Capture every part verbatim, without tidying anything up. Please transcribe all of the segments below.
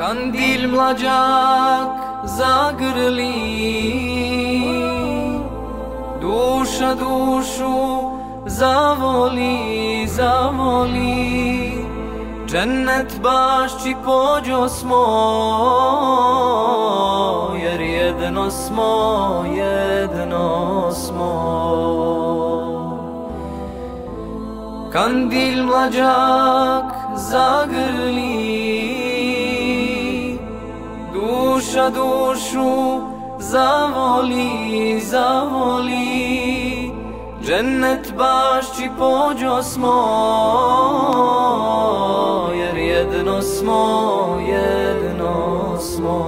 Kandil mlađak zagrli, duša dušu zavoli, zavoli, džennet bašći pođo smo, jer jedno smo, jedno smo. Kandil mlađak zagrli, duša dušu zavoli, zavoli, džennet bašći pođo smo, jer jedno smo, jedno smo.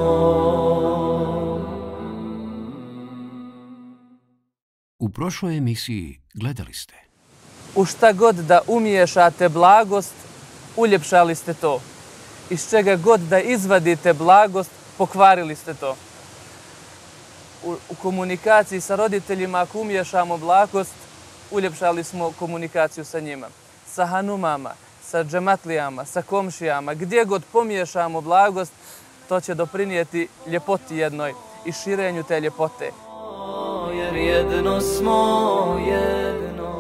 U prošloj emisiji gledali ste: u šta god da umiješate blagost, uljepšali ste to. Iz čega god da izvadite blagost, pokvarili ste to. U, u komunikaciji sa roditeljima, ako umiješamo blagost, uljepšali smo komunikaciju sa njima. Sa hanumama, sa džematlijama, sa komšijama, gdje god pomiješamo blagost, to će doprinijeti ljepoti jednoj i širenju te ljepote. Jer jedno smo, jedno.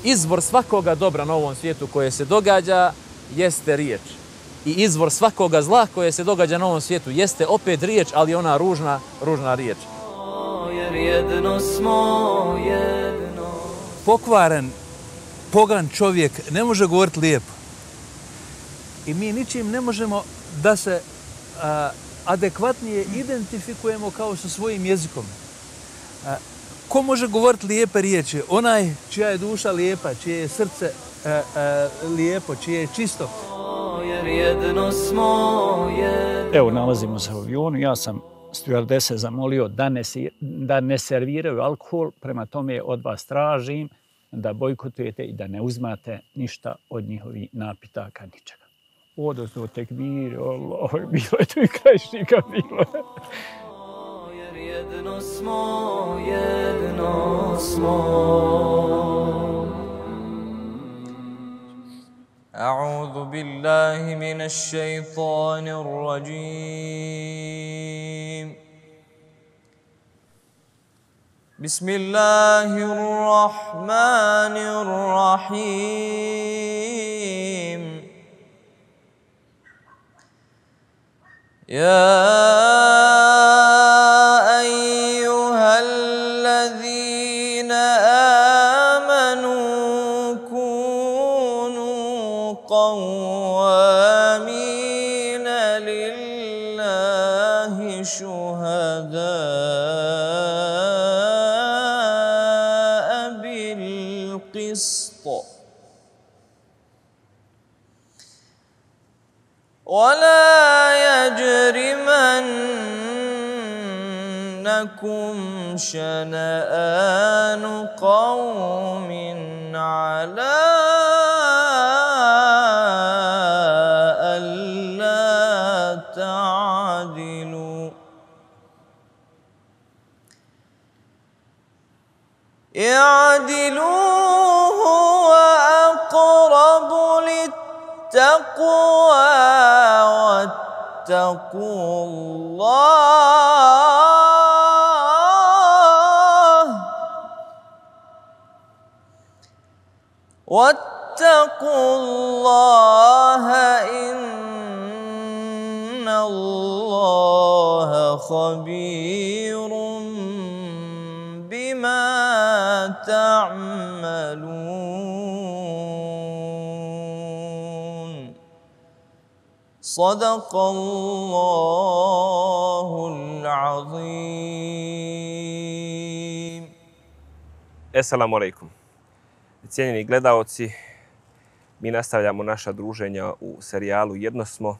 Izvor svakoga dobra na ovom svijetu koje se događa jeste riječ. I izvor svakoga zla koje se događa na ovom svijetu jeste opet riječ, ali ona ružna, ružna riječ. Jer jedno smo, jedno. Pokvaren, pogan čovjek ne može govoriti lijepo. I mi ničim ne možemo da se a, adekvatnije identifikujemo kao sa svojim jezikom. A, ko može govoriti lijepe riječi? Onaj čija je duša lijepa, čije je srce a, a, lijepo, čije je čisto. Jer jedno smo, jedno. Evo, nalazimo se u avionu. Ja sam stjuardese zamolio da ne, da ne serviraju alkohol, prema tome od vas tražim da bojkotujete i da ne uzmate ništa od njihovih napitaka, ničega. Odnosno tekbir, Allah, bilo je tu i krajišnika, bilo je. Jer jedno smo, jedno smo. أعوذ بالله من الشيطان الرجيم بسم الله الرحمن الرحيم يا أيها الذين آمنوا كونوا قوامين لله شهداء بالقسط ولا يجرمنكم شنآن قوم على ألا تعدلوا اعدلوا هو أقرب للتقوى واتقوا الله واتقوا الله إن الله خبير بما تعملون صدق الله العظيم. Assalamu alaikum. Cijenjeni gledaoci, mi nastavljamo naša druženja u serijalu Jedno smo,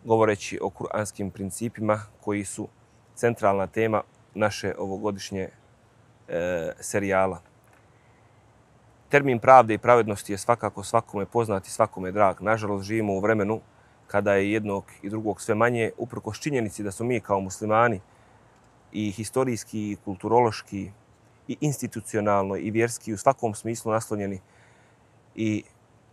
govoreći o kuranskim principima koji su centralna tema naše ovogodišnje e, serijala. Termin pravde i pravednosti je svakako svakome poznat i svakome drag. Nažalost, živimo u vremenu kada je jednog i drugog sve manje, uprkos činjenici da smo mi kao muslimani i historijski, i kulturološki, i institucionalno, i vjerski u svakom smislu naslonjeni i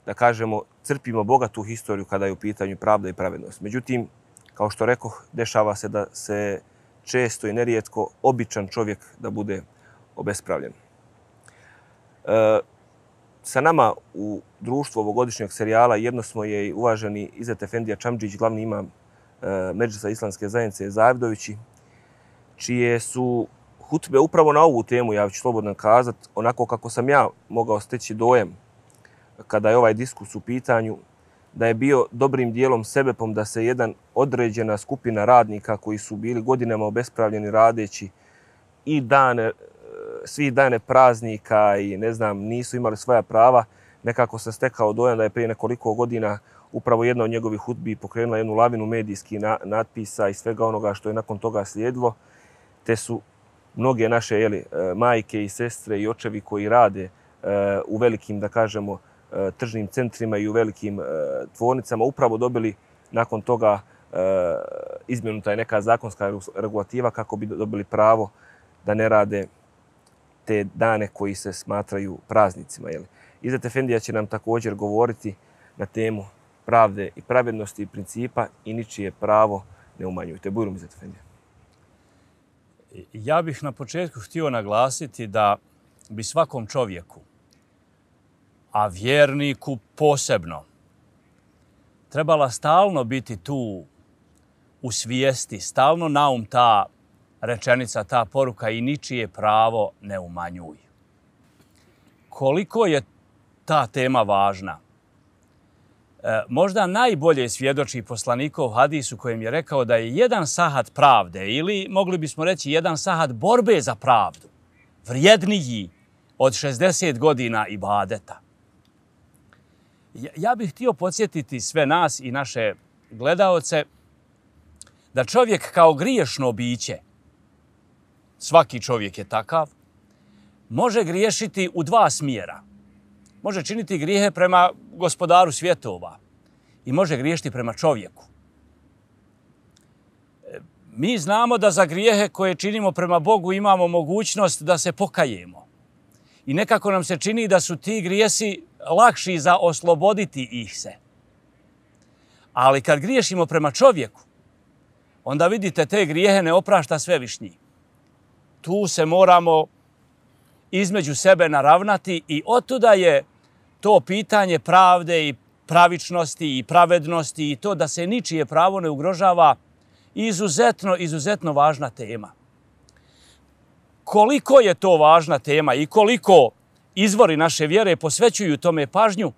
da kažemo, crpimo bogatu historiju kada je u pitanju pravda i pravednost. Međutim, kao što rekoh, dešava se da se često i nerijetko običan čovjek da bude obespravljen. E, sa nama u društvu ovogodišnjeg serijala jedno smo je i uvaženi Izet Efendija Čamdžić, glavni imam e, Medžlisa Islamske zajednice Zavdovići, čije su hutbe upravo na ovu temu, ja ću slobodno kazati, onako kako sam ja mogao steći dojam kada je ovaj diskus u pitanju, da je bio dobrim dijelom sebepom da se jedan određena skupina radnika koji su bili godinama obespravljeni radeći i dane, svi dane praznika i ne znam, nisu imali svoja prava, nekako sam stekao dojam da je prije nekoliko godina upravo jedna od njegovih hutbi pokrenula jednu lavinu medijskih na, natpisa i svega onoga što je nakon toga slijedilo, te su mnoge naše jeli, majke i sestre i očevi koji rade u velikim, da kažemo, tržnim centrima i u velikim tvornicama upravo dobili nakon toga izmjenuta je neka zakonska regulativa kako bi dobili pravo da ne rade te dane koji se smatraju praznicima. Jeli. Izet Efendija će nam također govoriti na temu pravde i pravednosti i principa i ničije pravo ne umanjujte. Bujrum Izet Efendija. Ja bih na početku htio naglasiti da bi svakom čovjeku, a vjerniku posebno, trebala stalno biti tu u svijesti, stalno naum ta rečenica, ta poruka i ničije pravo ne umanjuj. Koliko je ta tema važna? E, možda najbolje svjedoči poslanikov hadis u kojem je rekao da je jedan sahat pravde ili mogli bismo reći jedan sahat borbe za pravdu vrijedniji od šezdeset godina ibadeta. Ja bih htio podsjetiti sve nas i naše gledaoce da čovjek kao griješno biće, svaki čovjek je takav, može griješiti u dva smjera. Može činiti grijehe prema gospodaru svjetova i može griješiti prema čovjeku. Mi znamo da za grijehe koje činimo prema Bogu imamo mogućnost da se pokajemo. I nekako nam se čini da su ti grijesi lakši za osloboditi ih se. Ali kad griješimo prema čovjeku, onda vidite te grijehe ne oprašta Svevišnji. Tu se moramo između sebe naravnati i otuda je to pitanje pravde i pravičnosti i pravednosti i to da se ničije pravo ne ugrožava izuzetno, izuzetno važna tema. Koliko je to važna tema i koliko izvori naše vjere posvećuju tome pažnju,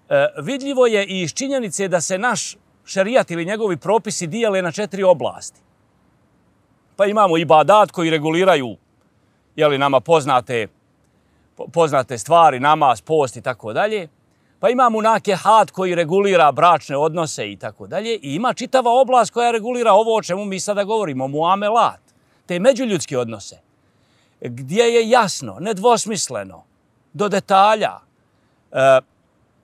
e, vidljivo je i iz činjenice da se naš šerijat ili njegovi propisi dijele na četiri oblasti. Pa imamo ibadat koji reguliraju jeli, nama poznate, poznate stvari, namaz, post i tako dalje. Pa imamo nakehat koji regulira bračne odnose i tako dalje. I ima čitava oblast koja regulira ovo o čemu mi sada govorimo, muamelat, te međuljudske odnose, gdje je jasno, nedvosmisleno, do detalja, e,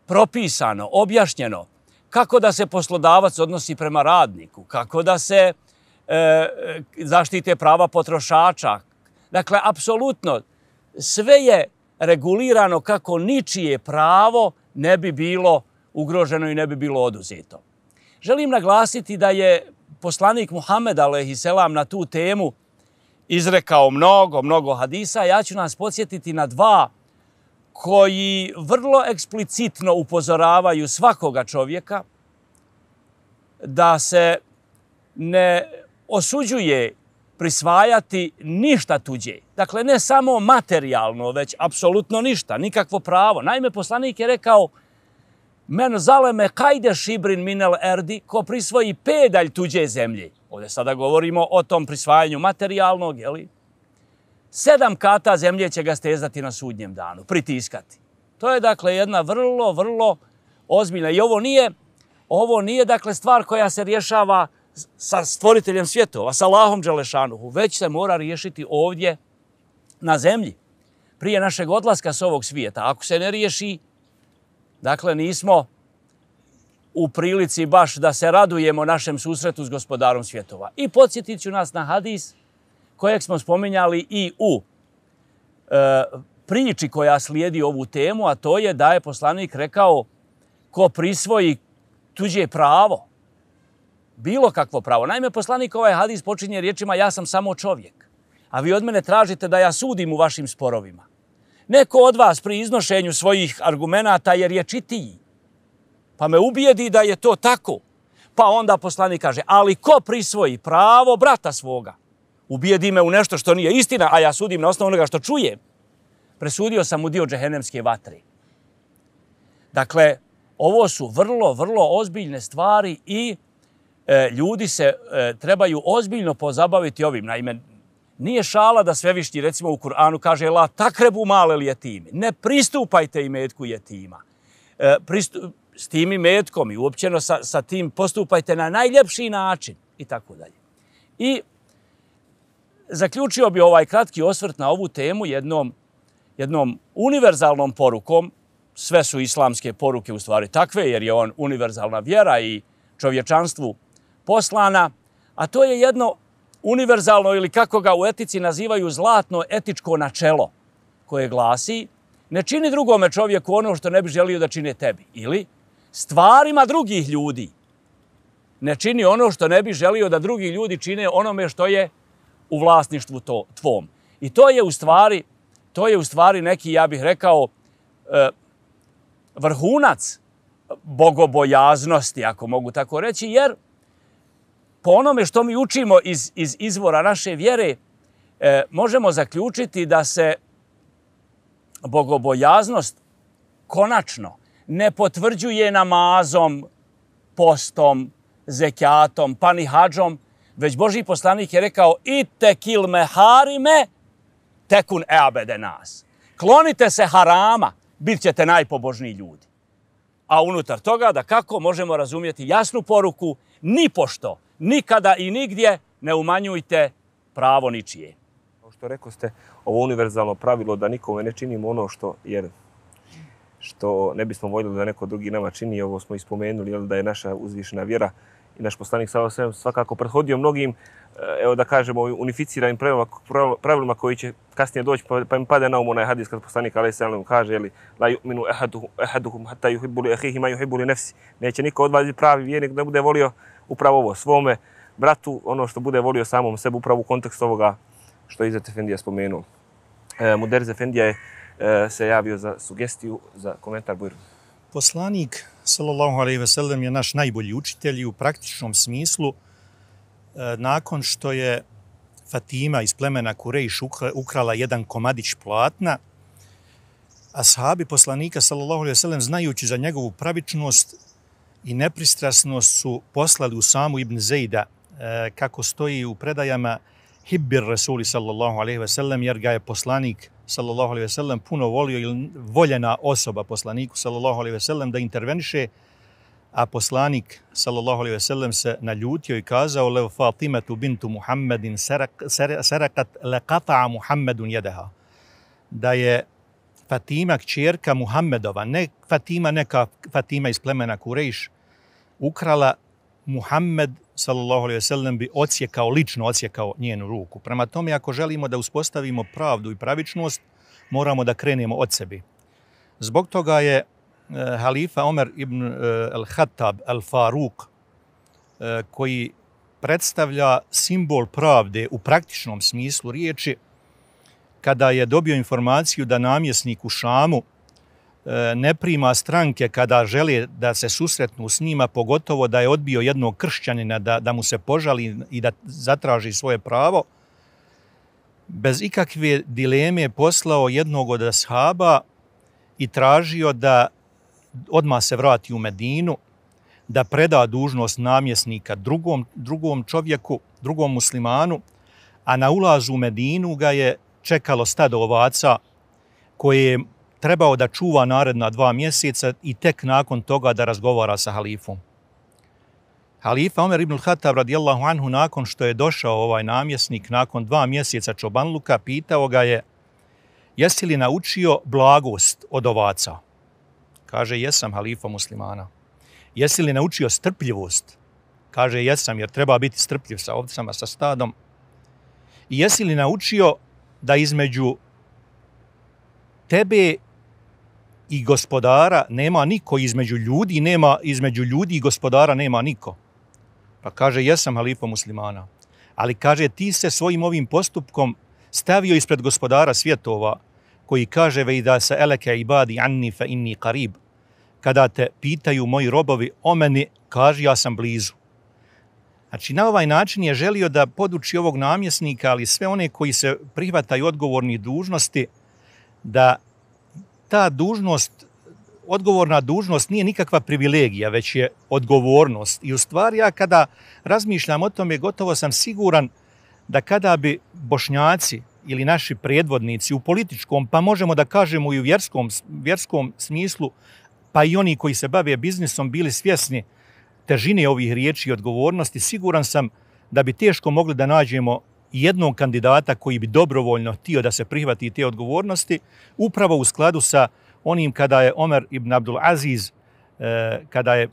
propisano, objašnjeno kako da se poslodavac odnosi prema radniku, kako da se e, zaštite prava potrošača. Dakle, apsolutno sve je regulirano kako ničije pravo ne bi bilo ugroženo i ne bi bilo oduzeto. Želim naglasiti da je poslanik Muhammed alejhiselam na tu temu izrekao mnogo, mnogo hadisa. Ja ću nas podsjetiti na dva koji vrlo eksplicitno upozoravaju svakoga čovjeka da se ne osuđuje prisvajati ništa tuđe. Dakle, ne samo materijalno, već apsolutno ništa, nikakvo pravo. Naime, poslanik je rekao men zaleme kajde šibrin minel erdi, ko prisvoji pedalj tuđe zemlje. Ovdje sada govorimo o tom prisvajanju materijalnog, jeli? Sedam kata zemlje će ga stezati na sudnjem danu, pritiskati. To je dakle jedna vrlo, vrlo ozbiljna. I ovo nije, ovo nije dakle stvar koja se rješava sa stvoriteljem svjetova, sa Allahom Đelešanuhu, već se mora riješiti ovdje na zemlji, prije našeg odlaska s ovog svijeta. Ako se ne riješi, dakle nismo u prilici baš da se radujemo našem susretu s gospodarom svjetova. I podsjetit ću nas na hadis kojeg smo spominjali i u e, priči koja slijedi ovu temu, a to je da je poslanik rekao ko prisvoji tuđe pravo, bilo kakvo pravo. Naime, poslanik ovaj hadis počinje riječima ja sam samo čovjek, a vi od mene tražite da ja sudim u vašim sporovima. Neko od vas pri iznošenju svojih argumenata jer je čitiji, pa me ubijedi da je to tako. Pa onda poslanik kaže, ali ko prisvoji pravo brata svoga, ubijedi me u nešto što nije istina, a ja sudim na osnovu onoga što čujem, presudio sam mu dio džehennemske vatre. Dakle, ovo su vrlo, vrlo ozbiljne stvari i e, ljudi se e, trebaju ozbiljno pozabaviti ovim. Naime, nije šala da Svevišnji, recimo u Kur'anu, kaže la takrebu male li jetime. Ne pristupajte imetku jetima. E, pristup, s tim imetkom i uopćeno sa, sa tim postupajte na najljepši način i tako dalje. I zaključio bi ovaj kratki osvrt na ovu temu jednom, jednom univerzalnom porukom. Sve su islamske poruke u stvari takve, jer je on univerzalna vjera i čovječanstvu poslana, a to je jedno univerzalno ili kako ga u etici nazivaju zlatno etičko načelo koje glasi ne čini drugome čovjeku ono što ne bi želio da čine tebi. Ili stvarima drugih ljudi ne čini ono što ne bi želio da drugi ljudi čine onome što je u vlasništvu to, tvom. I to je u stvari, to je u stvari neki, ja bih rekao, e, vrhunac bogobojaznosti, ako mogu tako reći, jer po onome što mi učimo iz, iz izvora naše vjere, e, možemo zaključiti da se bogobojaznost konačno ne potvrđuje namazom, postom, zekatom, pa ni hadžom, već Božji poslanik je rekao itekil meharime tekun eabede nas. Klonite se harama, bit ćete najpobožniji ljudi. A unutar toga da kako možemo razumjeti jasnu poruku, ni pošto, nikada i nigdje ne umanjujte pravo ničije. Kao što rekao ste, ovo univerzalno pravilo da nikome ne činimo ono što, jer, što ne bismo voljeli da neko drugi nama čini, ovo smo ispomenuli, jel, da je naša uzvišena vjera i naš poslanik sallallahu alejhi ve sellem svakako prethodio mnogim, evo da kažemo, unificiranim pravilima, pravilima koji će kasnije doći, pa, pa im pade na um onaj hadis kad poslanik alejhi selam kaže, jeli, la yu'minu ahaduhum hatta yuhibbu li akhihi ma yuhibbu li nafsi. Neće niko od vas biti pravi vjernik da bude volio upravo ovo svome bratu, ono što bude volio samom sebi, upravo u kontekstu ovoga što je Izzet Efendija spomenuo. E, Muderriz Efendija je e, se javio za sugestiju, za komentar. Bujro. Poslanik sallallahu alejhi ve sellem je naš najbolji učitelj i u praktičnom smislu nakon što je Fatima iz plemena Kurejš ukrala jedan komadić platna, ashabi poslanika sallallahu alejhi ve sellem, znajući za njegovu pravičnost i nepristrasnost, su poslali Usamu ibn Zejda, kako stoji u predajama, hibbir Rasuli sallallahu alejhi ve sellem, jer ga je poslanik sallallahu alejhi ve sellem puno volio, ili voljena osoba poslaniku sallallahu alejhi ve sellem, da interveniše, a poslanik sallallahu alejhi ve sellem se naljutio i kazao lev Fatimatu bintu Muhammedin sarakat laqata'a Muhammedun yadaha, da je Fatima kćerka Muhammedova, ne Fatima, neka Fatima iz plemena Kurejš, ukrala, Muhammed sallallahu alejhi ve sellem bi odsjekao, lično odsjekao njenu ruku. Prema tome, ako želimo da uspostavimo pravdu i pravičnost, moramo da krenemo od sebi. Zbog toga je halifa Omer ibn al-Khattab al-Faruk, koji predstavlja simbol pravde u praktičnom smislu riječi, kada je dobio informaciju da namjesnik u Šamu ne prima stranke kada žele da se susretnu s njima, pogotovo da je odbio jednog kršćanina da, da mu se požali i da zatraži svoje pravo, bez ikakve dileme poslao jednog od ashaba i tražio da odmah se vrati u Medinu, da preda dužnost namjesnika drugom, drugom čovjeku, drugom muslimanu, a na ulazu u Medinu ga je čekalo stado ovaca koje je trebao da čuva naredna dva mjeseca i tek nakon toga da razgovara sa halifom. Halifa Omer ibn al-Khattab radijallahu anhu, nakon što je došao ovaj namjesnik, nakon dva mjeseca čobanluka, pitao ga je, jesi li naučio blagost od ovaca? Kaže, jesam, halifa muslimana. Jesi li naučio strpljivost? Kaže, jesam, jer treba biti strpljiv sa ovcama, sa stadom. I jesi li naučio da između tebe i gospodara nema niko, između ljudi nema, između ljudi i gospodara nema niko. Pa kaže, jesam halifa muslimana. Ali kaže, ti se svojim ovim postupkom stavio ispred gospodara svjetova, koji kaže, ve da se eleke ibadi anni fa inni qarib. Kada te pitaju moji robovi o meni, kaže, ja sam blizu. Znači, na ovaj način je želio da poduči ovog namjesnika, ali sve one koji se prihvataju odgovornih dužnosti, da ta dužnost, odgovorna dužnost nije nikakva privilegija, već je odgovornost. I u stvari, ja kada razmišljam o tome, gotovo sam siguran da kada bi Bošnjaci ili naši predvodnici u političkom, pa možemo da kažemo i u vjerskom, vjerskom smislu, pa i oni koji se bave biznisom, bili svjesni težine ovih riječi i odgovornosti, siguran sam da bi teško mogli da nađemo jednog kandidata koji bi dobrovoljno htio da se prihvati te odgovornosti, upravo u skladu sa onim kada je Omer ibn Abdul Aziz, kada je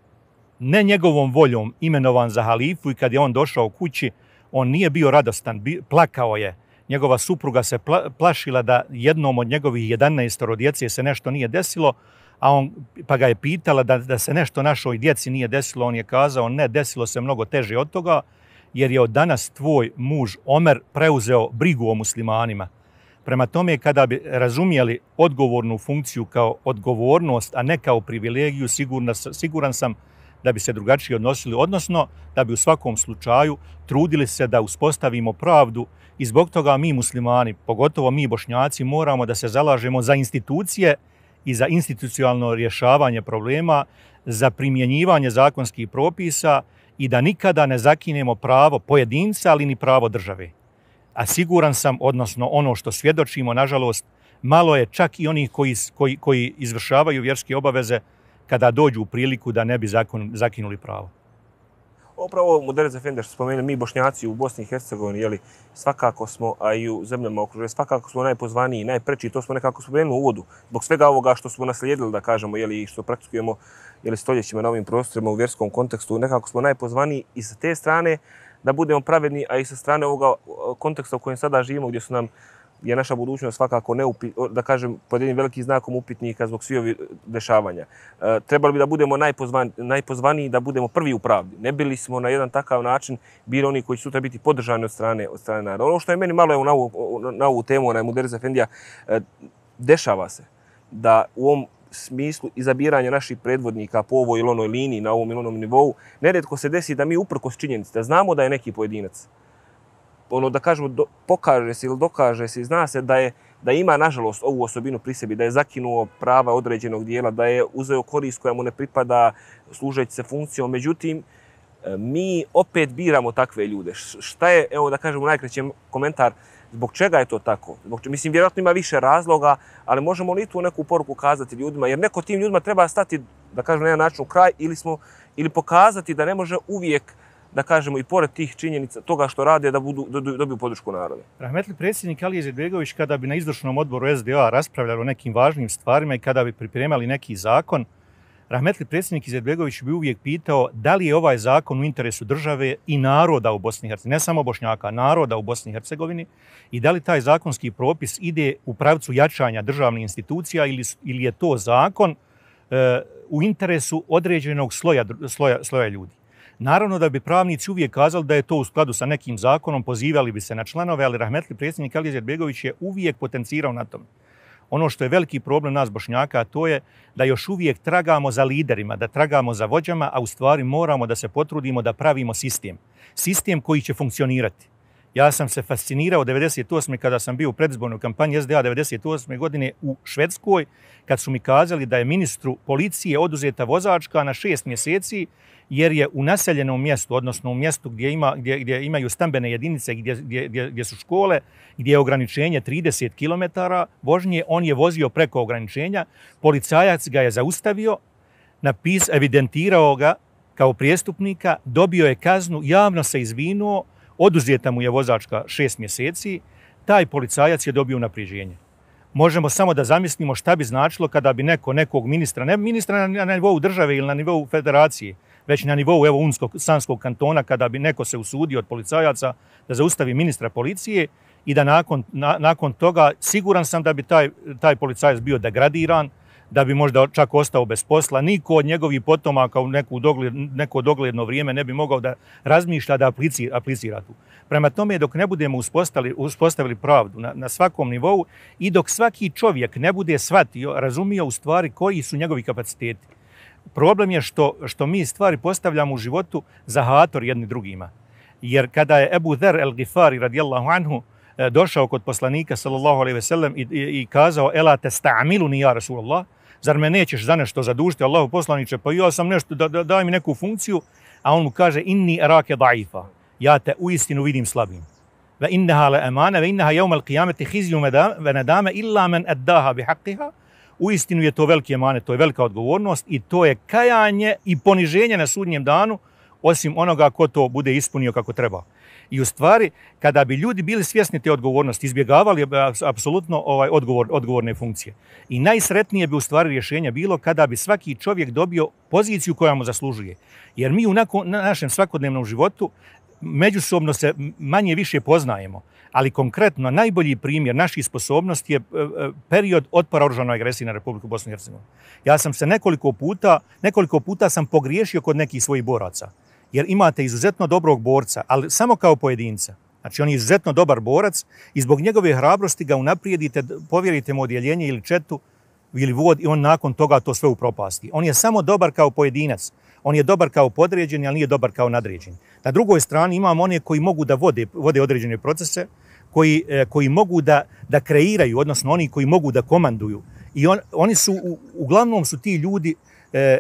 ne njegovom voljom imenovan za halifu i kad je on došao kući, on nije bio radostan, plakao je. Njegova supruga se plašila da jednom od njegovih jedanaestoro djece se nešto nije desilo, a on, pa ga je pitala da, da se nešto našoj djeci nije desilo. On je kazao, ne, desilo se mnogo teže od toga, jer je od danas tvoj muž Omer preuzeo brigu o muslimanima. Prema tome, kada bi razumijeli odgovornu funkciju kao odgovornost, a ne kao privilegiju, sigurna, siguran sam da bi se drugačije odnosili, odnosno da bi u svakom slučaju trudili se da uspostavimo pravdu i zbog toga mi muslimani, pogotovo mi Bošnjaci, moramo da se zalažemo za institucije i za institucionalno rješavanje problema, za primjenjivanje zakonskih propisa i da nikada ne zakinemo pravo pojedinca, ali ni pravo države. A siguran sam, odnosno ono što svjedočimo, nažalost, malo je čak i onih koji, koji, koji izvršavaju vjerske obaveze kada dođu u priliku da ne bi zakon, zakinuli pravo. Upravo Muderez Efendi što spomenuli, mi Bošnjaci u Bosni i Hercegovini, jeli, svakako smo, a i u zemljama okruženja, svakako smo najpozvaniji, najpreči, to smo nekako spomenuli u uvodu. Zbog svega ovoga što smo naslijedili, da kažemo, jeli, što praktikujemo jeli, stoljećima na ovim prostorima u vjerskom kontekstu, nekako smo najpozvaniji i sa te strane da budemo pravedni, a i sa strane ovoga konteksta u kojem sada živimo, gdje su nam je naša budućnost svakako neupi, da kažem, pod jednim velikim znakom upitnika zbog svih ovih dešavanja. E, trebali bi da budemo najpozvan, najpozvaniji, da budemo prvi u pravdi. Ne bili smo na jedan takav način bili oni koji će sutra biti podržani od strane, od strane naroda. Ono što je meni malo je na ovu, na ovu temu, onaj Muderez Efendija, e, dešava se da u ovom smislu izabiranja naših predvodnika po ovoj ili onoj liniji, na ovom ili onom nivou, nerijetko se desi da mi uprkos činjenici, da znamo da je neki pojedinac, ono da kažemo, do, pokaže se ili dokaže se i zna se da je da ima, nažalost, ovu osobinu pri sebi, da je zakinuo prava određenog dijela, da je uzeo korist koja mu ne pripada služeći se funkcijom. Međutim, mi opet biramo takve ljude. Šta je, evo da kažemo najkraćem komentar, zbog čega je to tako? Zbog, mislim, vjerojatno ima više razloga, ali možemo li tu neku poruku kazati ljudima? Jer neko tim ljudima treba stati, da kažemo, na jedan način u kraj ili, smo, ili pokazati da ne može uvijek, da kažemo, i pored tih činjenica toga što rade, da budu, da dobiju podršku naroda. Rahmetli predsjednik Alija Izetbegović, kada bi na izvršnom odboru S D A raspravljali o nekim važnim stvarima i kada bi pripremali neki zakon, rahmetli predsjednik Izetbegović bi uvijek pitao da li je ovaj zakon u interesu države i naroda u Bosni i Hercegovini, ne samo Bošnjaka, naroda u Bosni i Hercegovini, i da li taj zakonski propis ide u pravcu jačanja državnih institucija ili, ili je to zakon e, u interesu određenog sloja, sloja, sloja ljudi. Naravno da bi pravnici uvijek kazali da je to u skladu sa nekim zakonom, pozivali bi se na članove, ali rahmetli predsjednik Alija Izetbegović je uvijek potencirao na tom. Ono što je veliki problem nas Bošnjaka, to je da još uvijek tragamo za liderima, da tragamo za vođama, a u stvari moramo da se potrudimo da pravimo sistem. Sistem koji će funkcionirati. Ja sam se fascinirao devedeset osme kada sam bio u predizbornoj kampanji S D A devedeset osme godine u Švedskoj, kad su mi kazali da je ministru policije oduzeta vozačka na šest mjeseci, jer je u naseljenom mjestu, odnosno u mjestu gdje, ima, gdje, gdje imaju stambene jedinice, gdje, gdje, gdje su škole, gdje je ograničenje trideset kilometara vožnje, on je vozio preko ograničenja, policajac ga je zaustavio, napis, evidentirao ga kao prijestupnika, dobio je kaznu, javno se izvinuo, oduzeta mu je vozačka šest mjeseci, taj policajac je dobio unaprijeđenje. Možemo samo da zamislimo šta bi značilo kada bi neko nekog ministra, ne ministra na, na nivou države ili na nivou federacije, već na nivou evo Unskog, Sanskog kantona, kada bi neko se usudio od policajaca da zaustavi ministra policije i da nakon, na, nakon toga siguran sam da bi taj, taj policajac bio degradiran, da bi možda čak ostao bez posla. Niko od njegovih potomaka u neku dogled, neko dogledno vrijeme ne bi mogao da razmišlja da aplicira, aplicira tu. Prema tome, dok ne budemo uspostavili, uspostavili pravdu na, na svakom nivou i dok svaki čovjek ne bude shvatio, razumio u stvari koji su njegovi kapaciteti. Problem je što, što mi stvari postavljamo u životu za hator jedni drugima. Jer kada je Ebu Dher el-Gifari radijallahu anhu došao kod poslanika sallallahu alejhi ve sellem i, i, i kazao ela testa'miluni ja Rasulullah, zar me nećeš za nešto zadužiti, Allahu poslaniče, pa ja sam nešto, da, da, daj mi neku funkciju, a on mu kaže inni arake da'ifa, ja te uistinu vidim slabim. Ve innaha la amana, ve innaha yawm al-qiyamati khizyu ve nadama illa man addaha bi haqqiha. Uistinu je to veliki emanet, to je velika odgovornost i to je kajanje i poniženje na sudnjem danu, osim onoga ko to bude ispunio kako treba. I u stvari, kada bi ljudi bili svjesni te odgovornosti, izbjegavali apsolutno ovaj odgovor, odgovorne funkcije. I najsretnije bi u stvari rješenja bilo kada bi svaki čovjek dobio poziciju koja mu zaslužuje. Jer mi u na našem svakodnevnom životu međusobno se manje više poznajemo. Ali konkretno, najbolji primjer naših sposobnosti je period otpora oružanoj agresiji na Republiku Bosnu i Hercegovinu. Ja sam se nekoliko puta, nekoliko puta sam pogriješio kod nekih svojih boraca. Jer imate izuzetno dobrog borca, ali samo kao pojedinca. Znači, on je izuzetno dobar borac i zbog njegove hrabrosti ga unaprijedite, povjerite mu odjeljenje ili četu ili vod i on nakon toga to sve upropasti. On je samo dobar kao pojedinac. On je dobar kao podređeni, ali nije dobar kao nadređeni. Na drugoj strani imamo one koji mogu da vode, vode određene procese, koji, koji mogu da, da kreiraju, odnosno oni koji mogu da komanduju. I on, oni su, u, uglavnom su ti ljudi e,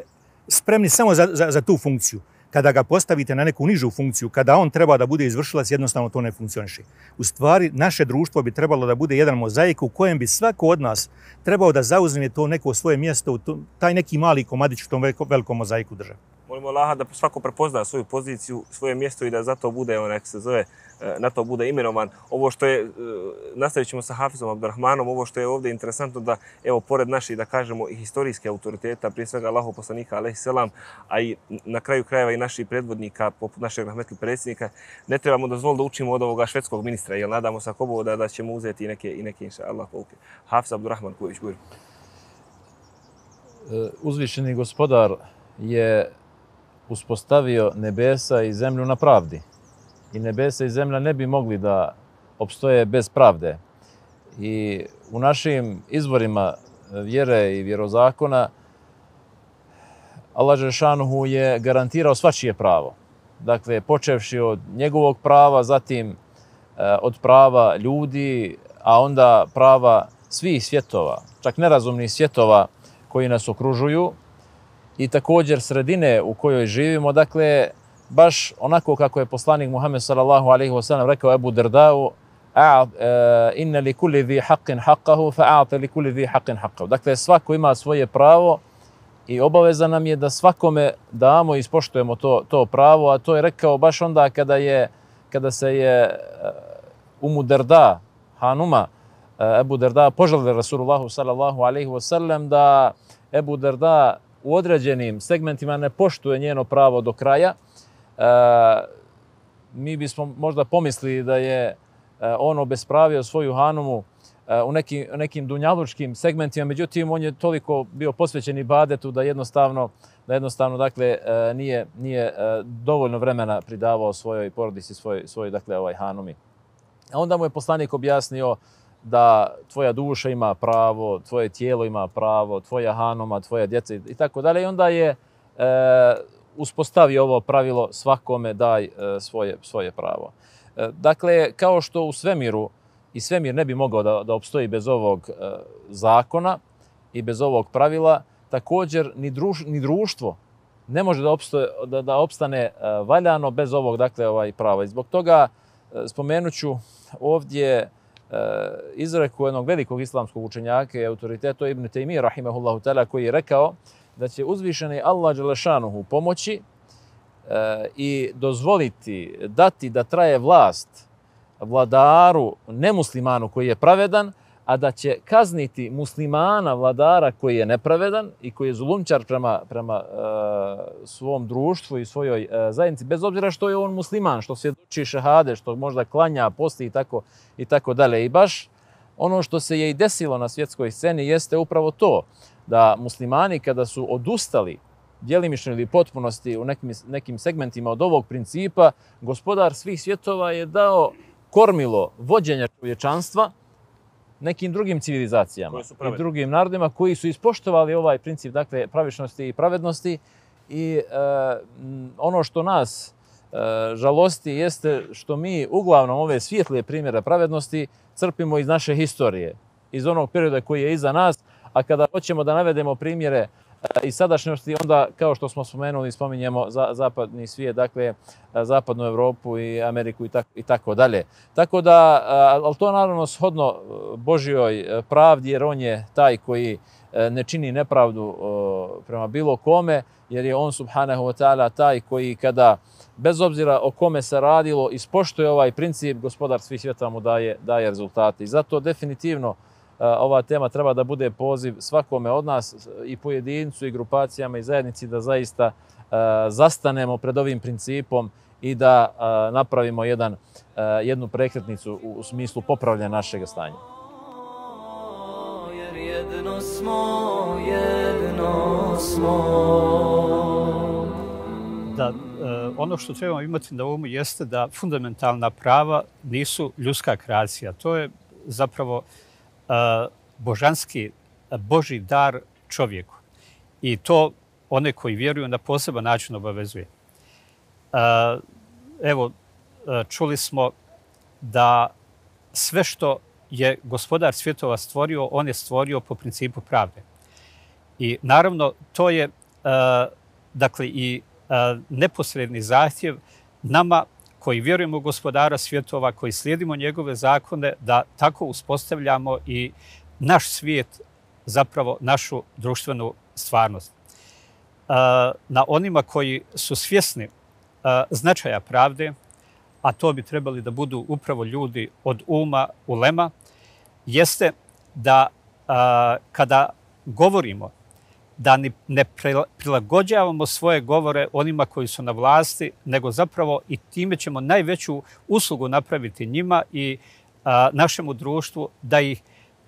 spremni samo za, za, za tu funkciju. Kada ga postavite na neku nižu funkciju, kada on treba da bude izvršilac, jednostavno to ne funkcioniše. U stvari, naše društvo bi trebalo da bude jedan mozaik u kojem bi svako od nas trebao da zauzme to neko svoje mjesto, u to, taj neki mali komadić u tom velikom mozaiku države. Molimo Allaha da svako prepozna svoju poziciju, svoje mjesto i da zato bude, onak se zove, na to bude imenovan. Ovo što je, nastavit ćemo sa Hafizom Abdurrahmanom, ovo što je ovdje interesantno da, evo, pored naših, da kažemo, i historijske autoriteta, prije svega Allahov poslanika, alejhi selam, a i na kraju krajeva i naših predvodnika, poput našeg rahmetli predsjednika, ne trebamo dozvoliti da učimo od ovoga švedskog ministra, jer nadamo se ako da, da ćemo uzeti i neke, i neke inša Allah pouke. Hafiz Abdurrahman Kujović, bujur. Uzvišeni gospodar je uspostavio nebesa i zemlju na pravdi. I nebesa i zemlja ne bi mogli da opstoje bez pravde. I u našim izvorima vjere i vjerozakona Allah Žešanuhu je garantirao svačije pravo. Dakle, počevši od njegovog prava, zatim od prava ljudi, a onda prava svih svjetova, čak nerazumnih svjetova koji nas okružuju, i također sredine u kojoj živimo, dakle, baš onako kako je poslanik Muhammed sallallahu alejhi ve sellem rekao Ebu Derdau, inna li kulli zi haqqin haqqahu, fa'a'ti li kulli zi haqqin haqqahu. Dakle, svako ima svoje pravo i obaveza nam je da svakome damo i ispoštujemo to, to pravo, a to je rekao baš onda kada, je, kada se je Umu Derda, Hanuma, Ebu Derda, poželili Rasulullahu sallallahu alejhi ve sellem da Ebu Derda u određenim segmentima ne poštuje njeno pravo do kraja. E, mi bismo možda pomislili da je on obespravio svoju Hanumu u nekim, nekim dunjalučkim segmentima, međutim on je toliko bio posvećen ibadetu da jednostavno, da jednostavno dakle, nije, nije dovoljno vremena pridavao svojoj porodici, svoj, svoj dakle, ovaj Hanumi. A onda mu je poslanik objasnio da tvoja duša ima pravo, tvoje tijelo ima pravo, tvoja Hanuma, tvoja djeca i tako dalje. I onda je e, uspostavio ovo pravilo svakome daj e, svoje, svoje pravo. E, dakle, kao što u svemiru, i svemir ne bi mogao da, da opstoji bez ovog e, zakona i bez ovog pravila, također ni, druž, ni društvo ne može da, opstoje, da, da opstane e, valjano bez ovog dakle, ovaj prava. I zbog toga e, spomenuću ovdje izreku jednog velikog islamskog učenjaka i autoriteta Ibn Taymije rahimehullahu ta'ala, koji je rekao da će uzvišeni Allah dželešanuhu pomoći e, i dozvoliti, dati da traje vlast vladaru nemuslimanu koji je pravedan, a da će kazniti muslimana, vladara koji je nepravedan i koji je zulumčar prema, prema uh, svom društvu i svojoj uh, zajednici, bez obzira što je on musliman, što svjedoči šehade, što možda klanja, posti i tako, i tako dalje. I baš ono što se je i desilo na svjetskoj sceni jeste upravo to, da muslimani kada su odustali djelimično ili potpunosti u nekim, nekim segmentima od ovog principa, gospodar svih svjetova je dao kormilo vođenja čovječanstva nekim drugim civilizacijama i drugim narodima koji su ispoštovali ovaj princip, dakle, pravičnosti i pravednosti. I e, ono što nas e, žalosti jeste što mi uglavnom ove svijetlije primjere pravednosti crpimo iz naše historije, iz onog perioda koji je iza nas, a kada hoćemo da navedemo primjere i sadašnjosti, onda, kao što smo spomenuli, spominjemo za, zapadni svijet, dakle, zapadnu Evropu i Ameriku i tako, i tako dalje. Tako da, ali to naravno shodno Božjoj pravdi, jer on je taj koji ne čini nepravdu prema bilo kome, jer je on, subhanahu wa ta'ala, taj koji kada, bez obzira o kome se radilo, ispoštuje ovaj princip, gospodar svih svijeta mu daje, daje rezultate. I zato definitivno ova tema treba da bude poziv svakome od nas, i pojedincu, i grupacijama, i zajednici, da zaista uh, zastanemo pred ovim principom i da uh, napravimo jedan, uh, jednu prekretnicu u, u smislu popravljanja našeg stanja. Jer jedno smo, jedno smo. Da, uh, ono što trebamo imati na umu jeste da fundamentalna prava nisu ljudska kreacija. To je zapravo Uh, božanski, uh, Božji dar čovjeku. I to one koji vjeruju na poseban način obavezuje. Uh, evo, uh, čuli smo da sve što je gospodar svjetova stvorio, on je stvorio po principu pravde. I naravno, to je uh, dakle i uh, neposredni zahtjev nama koji vjerujemo u gospodara svjetova, koji slijedimo njegove zakone, da tako uspostavljamo i naš svijet, zapravo našu društvenu stvarnost. Na onima koji su svjesni značaja pravde, a to bi trebali da budu upravo ljudi od uma, ulema, jeste da kada govorimo, da ne prilagođavamo svoje govore onima koji su na vlasti, nego zapravo i time ćemo najveću uslugu napraviti njima i a, našemu društvu, da ih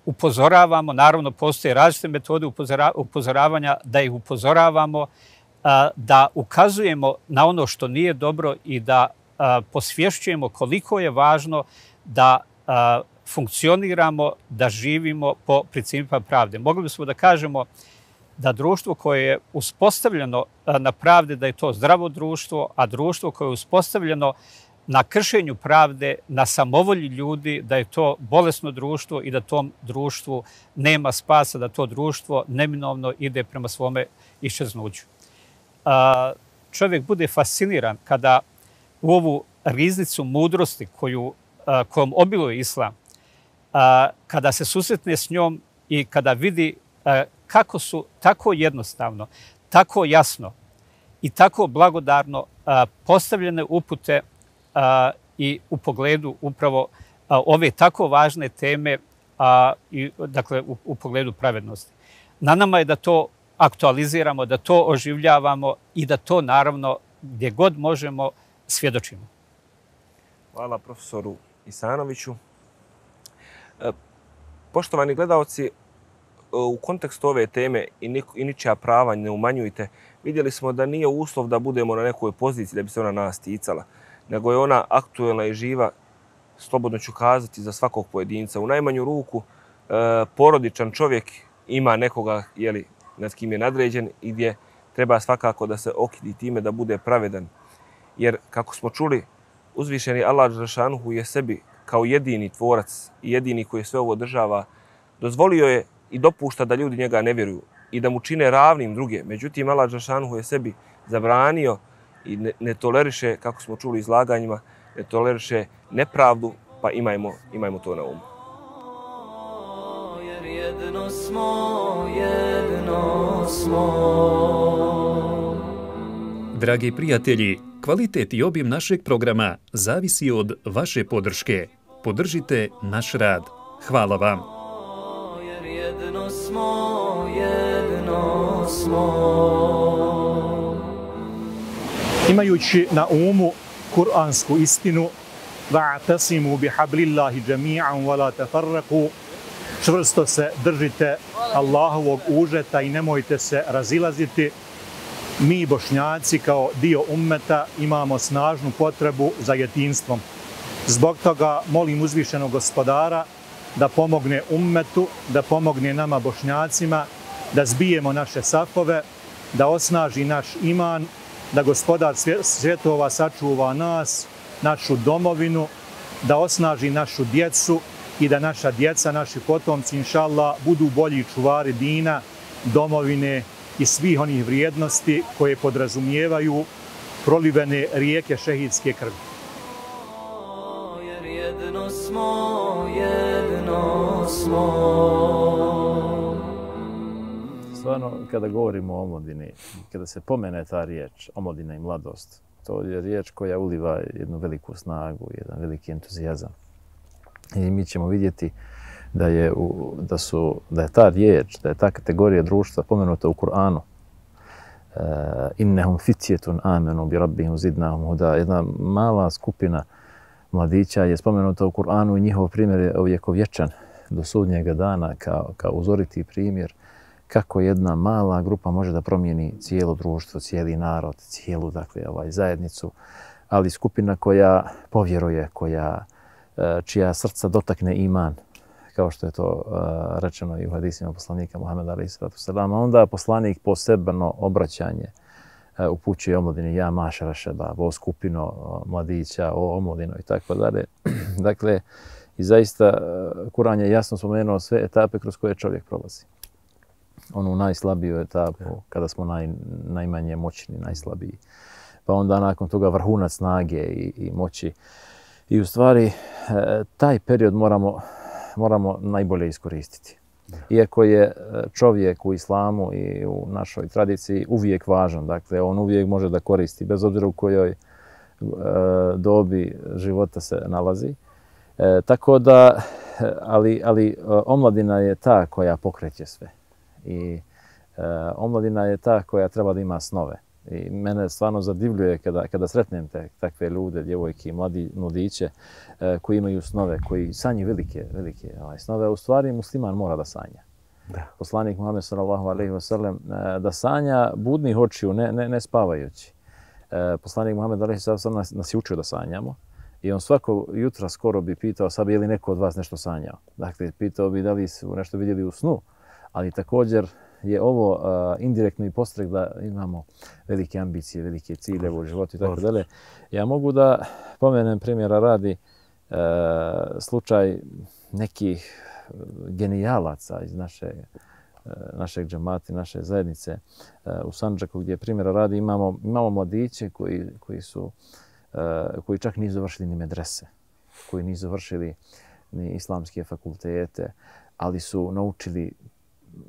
upozoravamo. Naravno, postoje različite metode upozora, upozoravanja, da ih upozoravamo, a, da ukazujemo na ono što nije dobro i da a, posvješćujemo koliko je važno da a, funkcioniramo, da živimo po principima pravde. Mogli bismo da kažemo da društvo koje je uspostavljeno na pravde, da je to zdravo društvo, a društvo koje je uspostavljeno na kršenju pravde, na samovolji ljudi, da je to bolesno društvo i da tom društvu nema spasa, da to društvo neminovno ide prema svome iščeznuću. Čovjek bude fasciniran kada u ovu riznicu mudrosti koju, kojom obiluje islam, kada se susretne s njom i kada vidi kako su tako jednostavno, tako jasno i tako blagodarno a, postavljene upute a, i u pogledu upravo a, ove tako važne teme, a, i, dakle u, u pogledu pravednosti. Na nama je da to aktualiziramo, da to oživljavamo i da to naravno gdje god možemo svjedočimo. Hvala profesoru Isanoviću. E, poštovani gledalci, u kontekstu ove teme i, i ničija prava ne umanjujte, vidjeli smo da nije uslov da budemo na nekoj poziciji da bi se ona nas ticala, nego je ona aktuelna i živa, slobodno ću kazati, za svakog pojedinca. U najmanju ruku e, porodičan čovjek ima nekoga, jeli, nad kim je nadređen i gdje treba svakako da se okidi time da bude pravedan. Jer, kako smo čuli, uzvišeni Allah dželešanuhu je sebi kao jedini tvorac i jedini koji sve ovo održava, dozvolio je i dopušta da ljudi njega ne vjeruju i da mu čine ravnim druge. Međutim, Allah dželešanuhu je sebi zabranio i ne, ne toleriše, kako smo čuli izlaganjima, ne toleriše nepravdu, pa imajmo, imajmo to na umu. Jer jedno smo, jedno smo. Dragi prijatelji, kvalitet i obim našeg programa zavisi od vaše podrške. Podržite naš rad. Hvala vam. jedno smo, jedno smo. Imajući na umu kuransku istinu, va'tasimu bihablillahi jami'an wa la tafarraqu, čvrsto se držite Allahovog užeta i nemojte se razilaziti. Mi Bošnjaci kao dio ummeta imamo snažnu potrebu za jedinstvom. Zbog toga molim uzvišenog gospodara da pomogne ummetu, da pomogne nama Bošnjacima, da zbijemo naše safove, da osnaži naš iman, da gospodar svjetova sačuva nas, našu domovinu, da osnaži našu djecu i da naša djeca, naši potomci, inšallah, budu bolji čuvari dina, domovine i svih onih vrijednosti koje podrazumijevaju prolivene rijeke šehidske krvi. Jer jedno smo, jedno smo. Stvarno, kada govorimo o omladini, kada se pomene ta riječ, omladina i mladost, to je riječ koja uliva jednu veliku snagu, jedan veliki entuzijazam. I mi ćemo vidjeti da je, u, da su, da je ta riječ, da je ta kategorija društva pomenuta u Kur'anu. Uh, innehum fitjetun amenu bi rabbihim zidnahum huda. Jedna mala skupina mladića je spomenuta u Kur'anu i njihov primjer je uvjekovječan do sudnjega dana kao, kao uzoriti primjer kako jedna mala grupa može da promijeni cijelo društvo, cijeli narod, cijelu dakle, ovaj, zajednicu, ali skupina koja povjeruje, koja, čija srca dotakne iman, kao što je to uh, rečeno i u hadisima poslanika Muhameda alejhi selatu selam, onda poslanik posebno obraćanje uh, upućuje omladini, ja mašara šebab, o skupino o mladića, o omladino i tako dalje. Dakle, i zaista uh, Kur'an je jasno spomenuo sve etape kroz koje čovjek prolazi. Onu najslabiju etapu, kada smo naj, najmanje moćni, najslabiji. Pa onda nakon toga vrhunac snage i, i moći. I u stvari, uh, taj period moramo moramo najbolje iskoristiti. Iako je čovjek u islamu i u našoj tradiciji uvijek važan, dakle on uvijek može da koristi, bez obzira u kojoj e, dobi života se nalazi. E, tako da, ali, ali omladina je ta koja pokreće sve. I e, omladina je ta koja treba da ima snove. I mene stvarno zadivljuje kada, kada sretnem te, takve ljude, djevojke i mladi, mladiće e, koji imaju snove, koji sanjaju velike, velike ovaj, snove. U stvari musliman mora da sanja. Da. Poslanik Muhammed sallallahu alejhi ve sellem e, da sanja budnih očiju, ne, ne, ne spavajući. E, poslanik Muhammed alejhi ve sellem nas, nas je učio da sanjamo i on svako jutra skoro bi pitao sad je li neko od vas nešto sanjao. Dakle, pitao bi da li su nešto vidjeli u snu, ali također je ovo uh, indirektno i postrek da imamo velike ambicije, velike ciljeve u životu i tako dalje. Ja mogu da pomenem primjera radi uh, slučaj nekih genijalaca iz naše, uh, našeg džemata, naše zajednice uh, u Sandžaku gdje primjera radi imamo, imamo mladiće koji, koji, su, uh, koji čak nisu završili ni medrese, koji nisu završili ni islamske fakultete, ali su naučili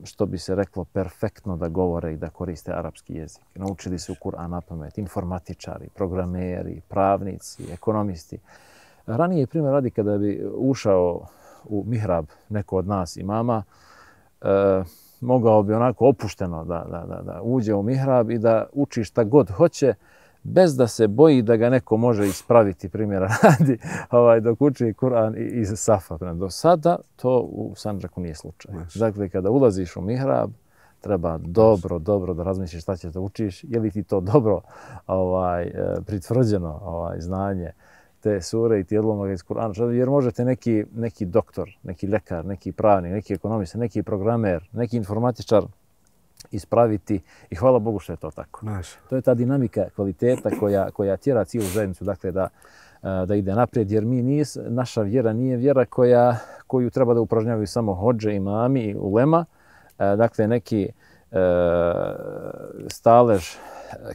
što bi se reklo perfektno da govore i da koriste arapski jezik. Naučili su Kur'an na pamet, informatičari, programeri, pravnici, ekonomisti. Ranije primjer radi kada bi ušao u mihrab neko od nas imama, e, mogao bi onako opušteno da, da, da, da uđe u mihrab i da uči šta god hoće, bez da se boji da ga neko može ispraviti, primjera radi, ovaj, dok uči Kur'an iz safa. Do sada to u Sandžaku nije slučaj. Znači. Dakle, kada ulaziš u mihrab, treba dobro, dobro da razmisliš šta ćeš da učiš, je li ti to dobro ovaj, pritvrđeno ovaj, znanje te sure i ti odlomaga iz Kur'ana, jer možete neki, neki doktor, neki lekar, neki pravnik, neki ekonomista, neki programer, neki informatičar ispraviti i hvala Bogu što je to tako. Naš. To je ta dinamika kvaliteta koja, koja tjera cijelu zajednicu dakle, da, da ide naprijed, jer mi nije, naša vjera nije vjera koja, koju treba da upražnjavaju samo hodže, imami i ulema, dakle neki e, stalež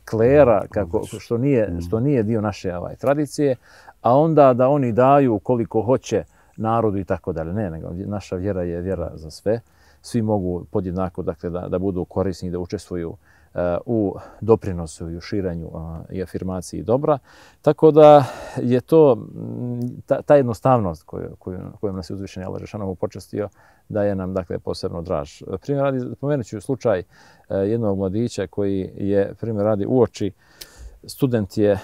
klera, kako, što, nije, što nije dio naše ovaj, tradicije, a onda da oni daju koliko hoće narodu i tako dalje. Ne, nego naša vjera je vjera za sve. Svi mogu podjednako dakle, da, da budu korisni, da učestvuju u doprinosu i u širanju i afirmaciji dobra. Tako da je to ta, ta jednostavnost koju, koju, kojom nas je uzvišeni Allah dželešanohu počastio daje nam dakle posebno draž. Primjer radi, spomenut ću slučaj jednog mladića koji je, primjer radi, uoči student je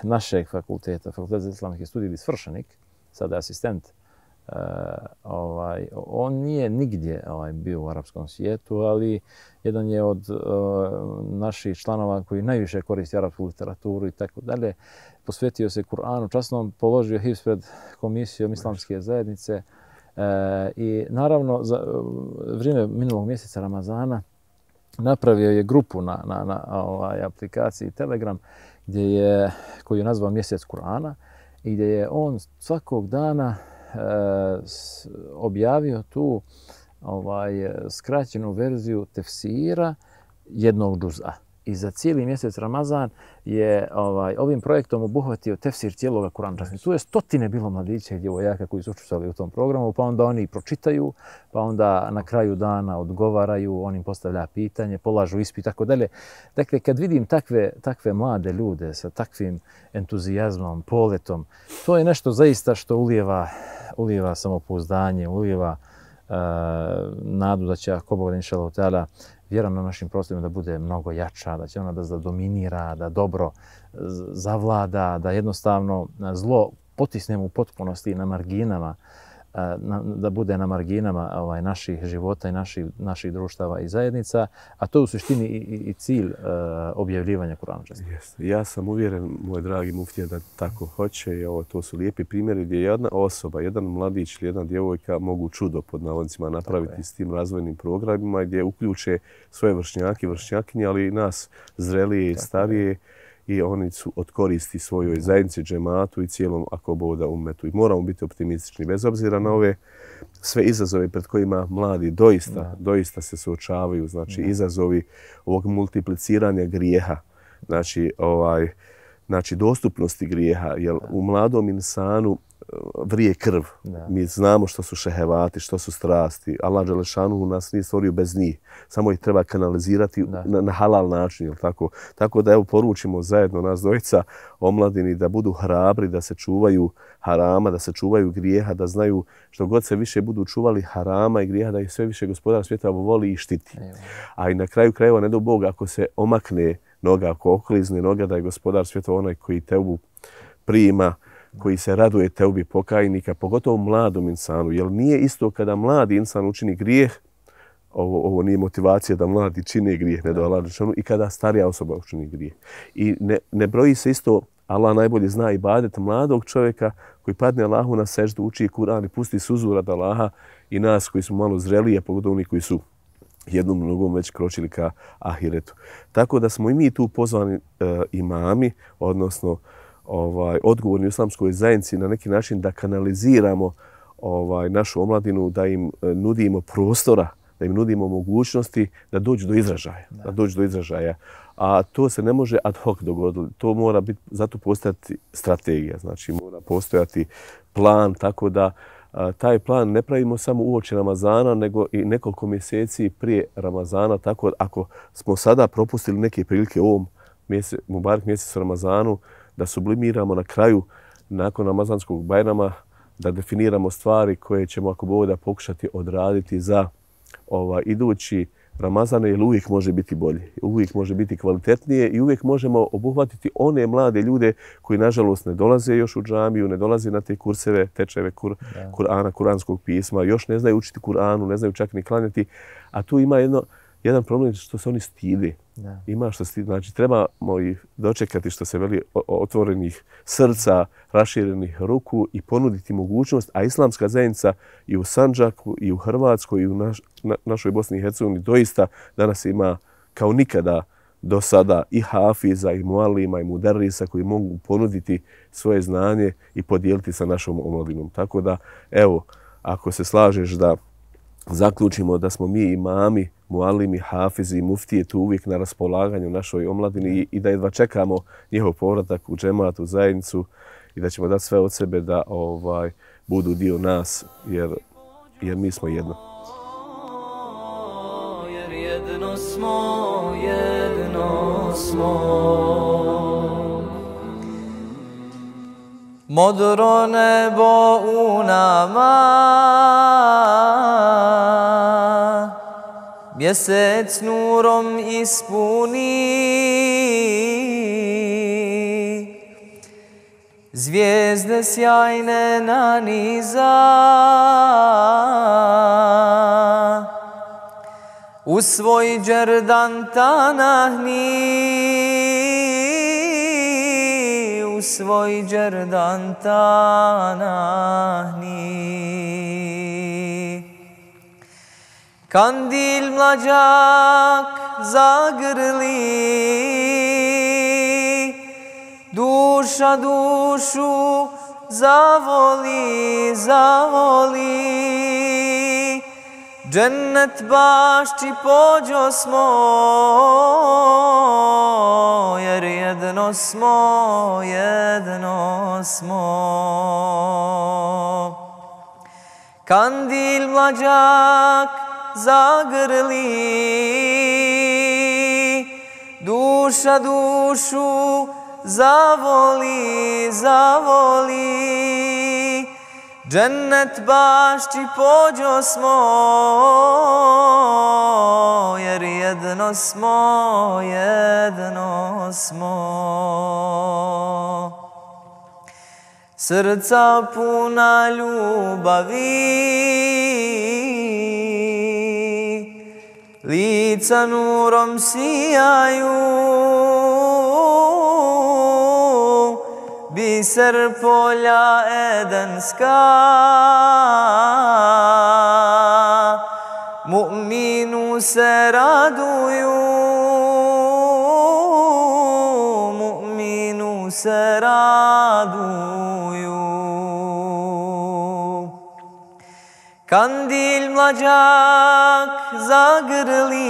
našeg fakulteta, Fakultet za islamski studij svršenik, sada je asistent. Uh, ovaj, on nije nigdje ovaj, bio u arapskom svijetu, ali jedan je od uh, naših članova koji najviše koristi arapsku literaturu i tako dalje. Posvetio se Kur'anu, časnom položio hifz pred komisijom islamske zajednice uh, i naravno za uh, vrijeme minulog mjeseca Ramazana napravio je grupu na, na, na ovaj, aplikaciji Telegram gdje je, koju je nazvao Mjesec Kur'ana i gdje je on svakog dana objavio tu ovaj skraćenu verziju tefsira jednog džuza. I za cijeli mjesec Ramazan je ovaj ovim projektom obuhvatio tefsir cijelog Kur'ana. Tu je stotine bilo mladića i djevojaka koji su učestvovali u tom programu, pa onda oni pročitaju, pa onda na kraju dana odgovaraju, on im postavlja pitanje, polažu ispit i tako dalje. Dakle, kad vidim takve, takve mlade ljude sa takvim entuzijazmom, poletom, to je nešto zaista što ulijeva, ulijeva samopouzdanje, ulijeva uh, nadu da će ako Bog inšallahu ta'ala vjera na našim prostorima da bude mnogo jača, da će ona da zadominira, da dobro zavlada, da jednostavno zlo potisnemo u potpunosti na marginama, na, da bude na marginama ovaj, naših života i naših, naših društava i zajednica, a to je u suštini i, i cilj uh, objavljivanja Kur'ana. Ja sam uvjeren, moj dragi muftija, da tako hoće i ovo, to su lijepi primjeri gdje jedna osoba, jedan mladić ili jedna djevojka mogu čudo pod navodnicima napraviti s tim razvojnim programima gdje uključe svoje vršnjake, vršnjakinje, ali i nas zrelije i starije i oni su od koristi svojoj zajednici, džematu i cijelom ako boda umetu. I moramo biti optimistični bez obzira na ove sve izazove pred kojima mladi doista, da. doista se suočavaju. Znači da. izazovi ovog multipliciranja grijeha, znači, ovaj, znači dostupnosti grijeha, jer da. u mladom insanu vrije krv. Da. Mi znamo što su šehevati, što su strasti. Allah dželešanu nas nije stvorio bez njih. Samo ih treba kanalizirati na, na halal način. Jel tako? Tako da evo poručimo zajedno nas dvojica omladini da budu hrabri, da se čuvaju harama, da se čuvaju grijeha, da znaju što god se više budu čuvali harama i grijeha, da ih sve više Gospodar svijeta voli i štiti. Evo. A i na kraju krajeva ne do Bog ako se omakne noga, ako oklizne noga, da je Gospodar svijeta onaj koji teubu prima, koji se raduje teubi pokajnika, pogotovo mladom insanu. Jer nije isto kada mladi insan učini grijeh, ovo, ovo nije motivacija da mladi čine grijeh, ne do Allah dželešanu, i kada starija osoba učini grijeh. I ne, ne broji se isto, Allah najbolje zna ibadet mladog čovjeka koji padne Allahu na seždu, uči Kur'an i pusti suzu rad Allaha i nas koji su malo zrelije, pogotovo oni koji su jednom nogom već kročili ka ahiretu. Tako da smo i mi tu pozvani e, imami, odnosno ovaj odgovorni u islamskoj zajednici na neki način da kanaliziramo ovaj našu omladinu, da im nudimo prostora, da im nudimo mogućnosti da dođu do izražaja, da, da dođu do izražaja. A to se ne može ad hoc dogoditi. To mora biti, zato postojati strategija, znači mora postojati plan, tako da a, taj plan ne pravimo samo uoči Ramazana, nego i nekoliko mjeseci prije Ramazana, tako da ako smo sada propustili neke prilike u ovom mjesec, Mubarek mjesec Ramazanu, da sublimiramo na kraju, nakon Ramazanskog Bajrama, da definiramo stvari koje ćemo, ako Bog da, pokušati odraditi za ovaj, idući Ramazan, jer uvijek može biti bolje, uvijek može biti kvalitetnije i uvijek možemo obuhvatiti one mlade ljude koji, nažalost, ne dolaze još u džamiju, ne dolaze na te kurseve, tečajeve kur, Kur'ana, kuranskog pisma, još ne znaju učiti Kur'anu, ne znaju čak ni klanjati, a tu ima jedno, jedan problem što se oni stide. Da. Ima što stidi. Znači, trebamo ih dočekati, što se veli, otvorenih srca, raširenih ruku i ponuditi mogućnost, a islamska zajednica i u Sandžaku, i u Hrvatskoj, i u naš, na, našoj Bosni i Hercegovini doista danas ima kao nikada do sada i hafiza, i mualima, i mudarrisa koji mogu ponuditi svoje znanje i podijeliti sa našom omladinom. Tako da, evo, ako se slažeš da zaključimo da smo mi imami, mualimi, hafizi i muftije tu uvijek na raspolaganju našoj omladini i da jedva čekamo njihov povratak u džemat, u zajednicu i da ćemo dati sve od sebe da ovaj budu dio nas, jer, jer mi smo jedno. Jer jedno jedno smo, jedno smo. Modro nebo u nama, mjesec nurom ispuni, zvijezde sjajne naniza, u svoj džerdan tanahni, u svoj džerdan tanahni. Kandil mlađak zagrli, duša dušu zavoli, zavoli. Džennet bašči pođo smo, jer jedno smo, jedno smo. Kandil mlađak zagrli, duša dušu zavoli, zavoli. Džennet bašči pođo smo, jer jedno smo, jedno smo. Srca puna ljubavi, lica nurom sijaju, biser polja edenska, mu'minu se raduju, mu'minu se raduju. Kandil mlađak zagrli,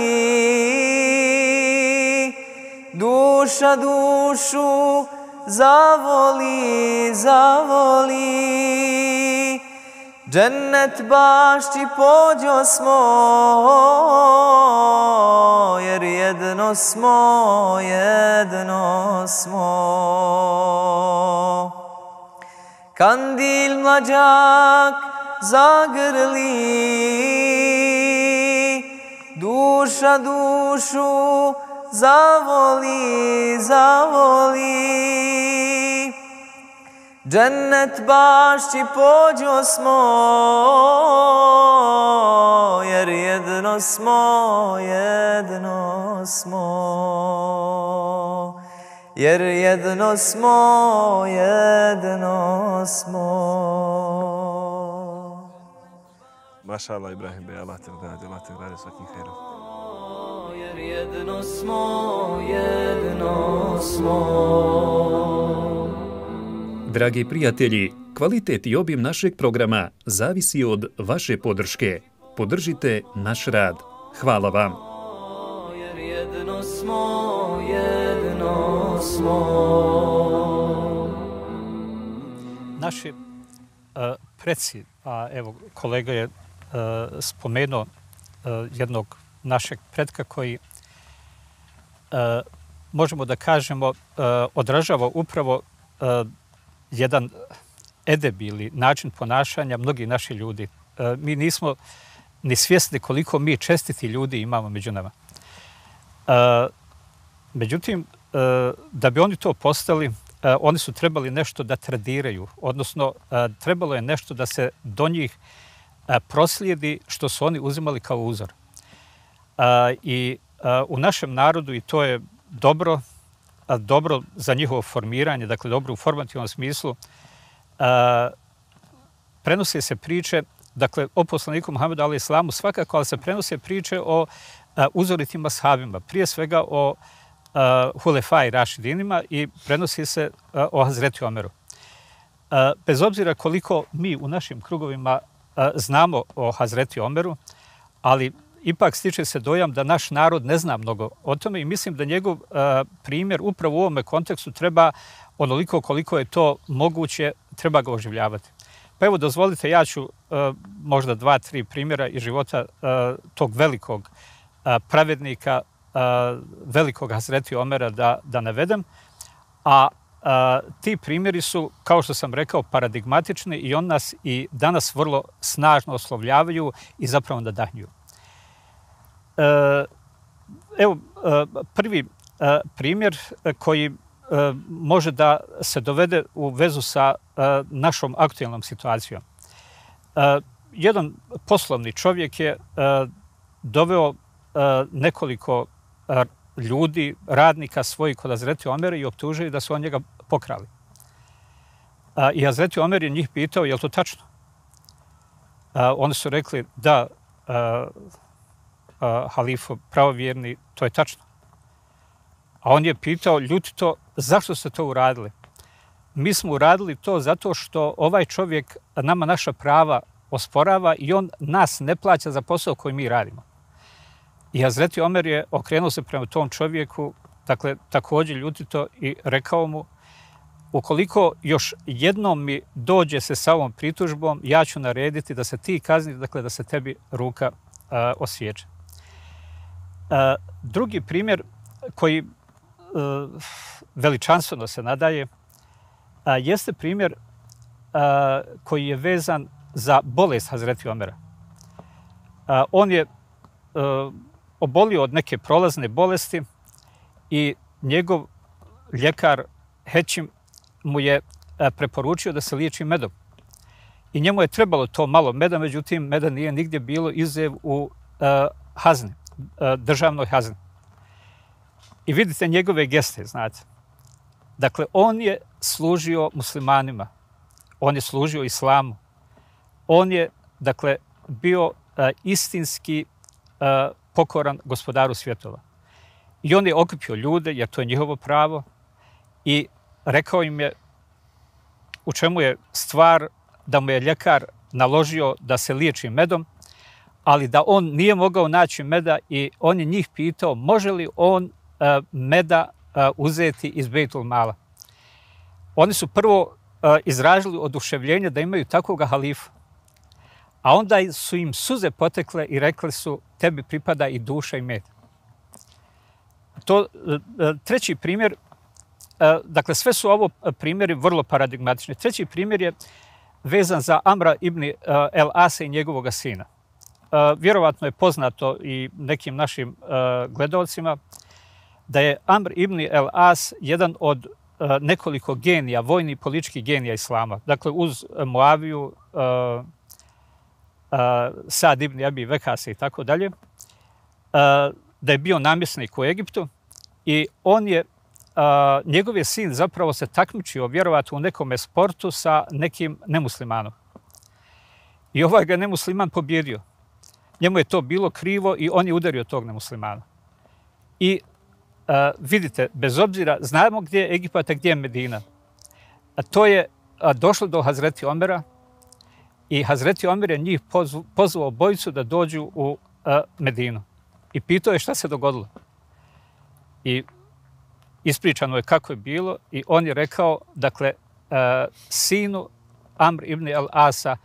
duša dušu zavoli, zavoli. Džennet bašči pođo smo, jer jedno smo, jedno smo. Kandil mlađak zagrli, duša dušu zavoli, zavoli. Džennet bašči pođo smo, jer jedno smo, jedno smo. Jer jedno smo, jedno smo. Maša Allah, Ibrahim Bey, Allah te nagradi, Allah te nagradi svakim hejrom. Jer jedno smo, jedno smo. Dragi prijatelji, kvalitet i obim našeg programa zavisi od vaše podrške. Podržite naš rad. Hvala vam. Jer jedno smo, jedno smo. Naši uh, preci, a evo kolega je uh, spomenuo uh, jednog našeg pretka koji uh, možemo da kažemo uh, odražava upravo uh, jedan edeb ili način ponašanja mnogih naših ljudi. Uh, mi nismo ni svjesni koliko mi čestiti ljudi imamo među nama. Uh, međutim, uh, da bi oni to postali, uh, oni su trebali nešto da tradiraju, odnosno uh, trebalo je nešto da se do njih uh, proslijedi što su oni uzimali kao uzor. Uh, I uh, u našem narodu, i to je dobro, uh, dobro za njihovo formiranje, dakle dobro u formativnom smislu, uh, prenose se priče, dakle o poslaniku Muhammedu alejhi selamu svakako, ali se prenose priče o uh, uzoritim ashabima, prije svega o uh, Hulefai Rašidinima i prenosi se uh, o Hazreti Omeru. Uh, bez obzira koliko mi u našim krugovima uh, znamo o Hazreti Omeru, ali ipak stiče se dojam da naš narod ne zna mnogo o tome i mislim da njegov uh, primjer upravo u ovome kontekstu treba onoliko koliko je to moguće, treba ga oživljavati. Pa evo, dozvolite, ja ću uh, možda dva, tri primjera iz života uh, tog velikog uh, pravednika velikog Hazreti Omera da, da navedem, a a, ti primjeri su, kao što sam rekao, paradigmatični i on nas i danas vrlo snažno oslovljavaju i zapravo nadahnjuju. E, evo, prvi primjer koji može da se dovede u vezu sa našom aktualnom situacijom. Jedan poslovni čovjek je doveo nekoliko ljudi, radnika svojih kod Hazreti Omera i optužili da su on njega pokrali. I Hazreti Omer je njih pitao, je li to tačno? Oni su rekli, da, halifo pravovjerni, to je tačno. A on je pitao, ljutito, zašto ste to uradili? Mi smo uradili to zato što ovaj čovjek nama naša prava osporava i on nas ne plaća za posao koji mi radimo. I Hazreti Omer je okrenuo se prema tom čovjeku, dakle, također ljutito i rekao mu, ukoliko još jednom mi dođe se sa ovom pritužbom, ja ću narediti da se ti kazni, dakle, da se tebi ruka uh, osjeće. Uh, drugi primjer koji uh, veličanstveno se nadaje, uh, jeste primjer uh, koji je vezan za bolest Hazreti Omera. Uh, on je uh, obolio od neke prolazne bolesti i njegov ljekar Hećim mu je preporučio da se liječi medom. I njemu je trebalo to malo meda, međutim, meda nije nigdje bilo izuzev u uh, hazni, uh, državnoj hazni. I vidite njegove geste, znate. Dakle, on je služio muslimanima, on je služio islamu, on je, dakle, bio uh, istinski uh, pokoran gospodaru svjetova. I on je okupio ljude, jer to je njihovo pravo, i rekao im je u čemu je stvar, da mu je ljekar naložio da se liječi medom, ali da on nije mogao naći meda i on je njih pitao može li on uh, meda uh, uzeti iz Bejtul Mala. Oni su prvo uh, izražili oduševljenje da imaju takvog halifa, a onda su im suze potekle i rekli su tebi pripada i duša i med. To, uh, treći primjer, dakle, sve su ovo primjeri vrlo paradigmatični. Treći primjer je vezan za Amra ibn El Asa i njegovog sina. Vjerovatno je poznato i nekim našim gledalcima da je Amr ibn El As jedan od nekoliko genija, vojni i političkih genija islama. Dakle, uz Muaviju, Sad ibn Abi Vekasa i tako dalje, da je bio namjesnik u Egiptu i on je Uh, njegov je sin zapravo se takmičio vjerovatno u nekome sportu sa nekim nemuslimanom. I ovaj ga nemusliman pobjedio. Njemu je to bilo krivo i on je udario tog nemuslimana. I uh, vidite, bez obzira, znamo gdje je Egipat, a gdje je Medina. A to je uh, došlo do Hazreti Omera i Hazreti Omer je njih pozv, pozvao bojicu da dođu u uh, Medinu. I pitao je šta se dogodilo. I ispričano je kako je bilo i on je rekao, dakle, uh, sinu Amr ibn El Asa,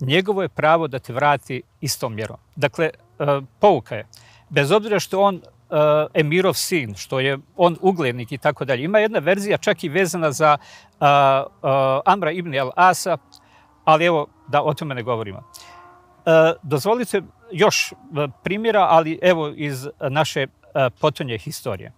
njegovo je pravo da te vrati istom mjerom. Dakle, uh, pouka je, bez obzira što on uh, emirov sin, što je on uglednik i tako dalje. Ima jedna verzija čak i vezana za uh, uh, Amra ibn El Asa, ali evo da o tome ne govorimo. Uh, dozvolite još uh, primjera, ali evo iz naše uh, potonje historije.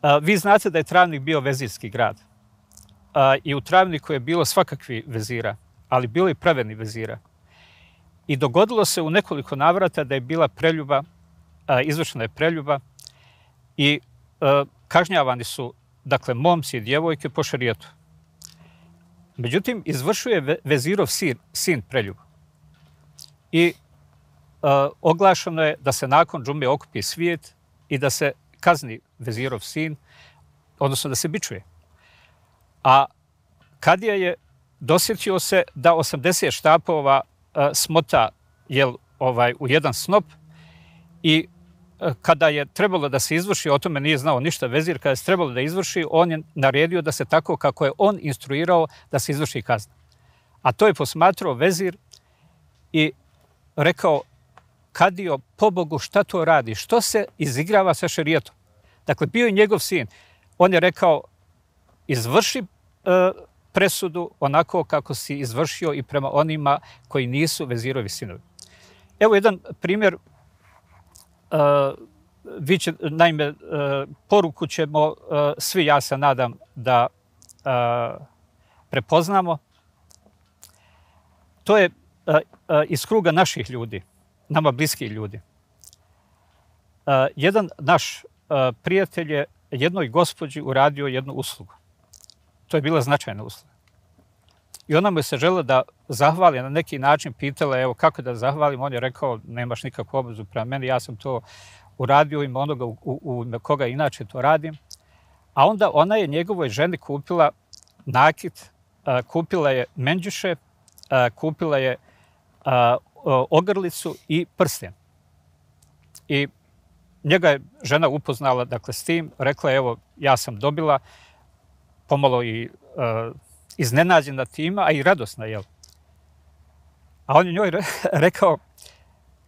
Uh, vi znate da je Travnik bio vezirski grad. Uh, I u Travniku je bilo svakakvi vezira, ali bilo i pravedni vezira. I dogodilo se u nekoliko navrata da je bila preljuba, uh, izvršena je preljuba i uh, kažnjavani su, dakle, momci i djevojke po šarijetu. Međutim, izvršuje ve vezirov sin, sin preljubu. I uh, oglašeno je da se nakon džume okupi svijet i da se kazni vezirov sin, odnosno da se bičuje. A kadija je dosjetio se da osamdeset štapova uh, smota jel, ovaj, u jedan snop i uh, kada je trebalo da se izvrši, o tome nije znao ništa vezir, kada je trebalo da izvrši, on je naredio da se tako kako je on instruirao da se izvrši kazna. A to je posmatrao vezir i rekao, kadio, pobogu, šta to radi? Što se izigrava sa šerijetom? Dakle, bio je njegov sin. On je rekao, izvrši e, presudu onako kako si izvršio i prema onima koji nisu vezirovi sinovi. Evo jedan primjer. E, vi će, naime, e, poruku ćemo e, svi, ja se nadam, da e, prepoznamo. To je e, e, iz kruga naših ljudi, nama bliskih ljudi. E, jedan naš e, prijatelj je jednoj gospođi uradio jednu uslugu. To je bila značajna usluga. I ona mu se žela da zahvali, na neki način pitala, evo kako da zahvalim, on je rekao, nemaš nikakvu obavezu prema meni, ja sam to uradio ime onoga u, u, u koga inače to radim. A onda ona je njegovoj ženi kupila nakit, a, kupila je menđuše, a, kupila je a, ogrlicu i prsten. I njega je žena upoznala, dakle, s tim, rekla je, evo, ja sam dobila, pomalo i uh, iznenađena tima, a i radosna, jel? A on je njoj rekao,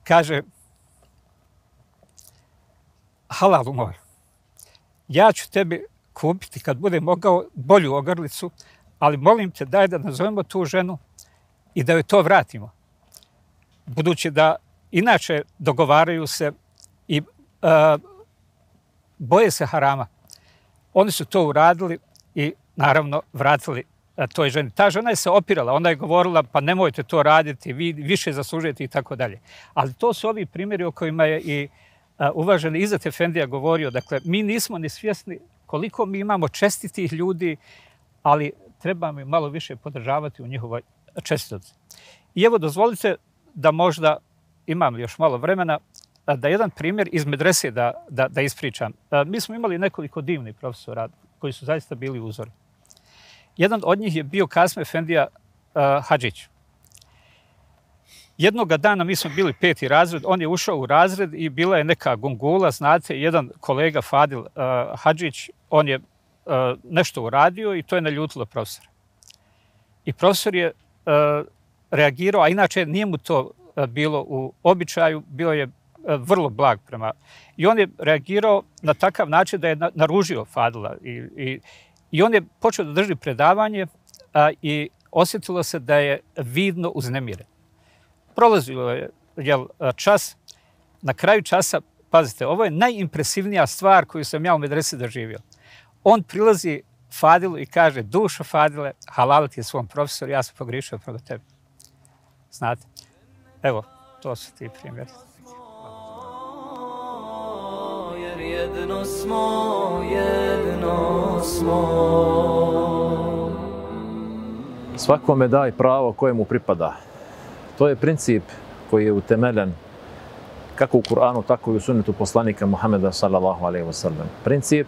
kaže, halalu moj, ja ću tebi kupiti, kad bude mogao, bolju ogrlicu, ali molim te, daj da nazovemo tu ženu i da joj to vratimo. Budući da inače dogovaraju se i Uh, boje se harama. Oni su to uradili i naravno vratili uh, toj ženi. Ta žena je se opirala, ona je govorila pa nemojte to raditi, vi više zaslužujete i tako dalje. Ali to su ovi primjeri o kojima je i uh, uvaženi Izet Efendija govorio. Dakle, mi nismo ni svjesni koliko mi imamo čestitih ljudi, ali trebamo ih malo više podržavati u njihovoj čestitosti. I evo, dozvolite da možda imam još malo vremena, da jedan primjer iz medrese da, da, da ispričam. Mi smo imali nekoliko divnih profesora koji su zaista bili uzori. Jedan od njih je bio Kasme Efendija uh, Hadžić. Jednoga dana mi smo bili peti razred, on je ušao u razred i bila je neka gungula, znate, jedan kolega Fadil uh, Hadžić, on je uh, nešto uradio i to je naljutilo profesora. I profesor je uh, reagirao, a inače nije mu to uh, bilo u običaju, bio je vrlo blag prema. I on je reagirao na takav način da je naružio Fadila. I, i, i on je počeo da drži predavanje a, i osjetilo se da je vidno uznemiren. Prolazio je jel, čas. Na kraju časa, pazite, ovo je najimpresivnija stvar koju sam ja u medresi doživio. On prilazi Fadilu i kaže, dušo Fadile, halal ti je svom profesoru, ja sam pogrišio prema tebi. Znate? Evo, to su ti primjeri. Jedno smo, jedno smo. Svakome daj pravo koje mu pripada. To je princip koji je utemeljen kako u Kur'anu, tako i u sunnetu poslanika Muhameda sallallahu alejhi ve sellem. Princip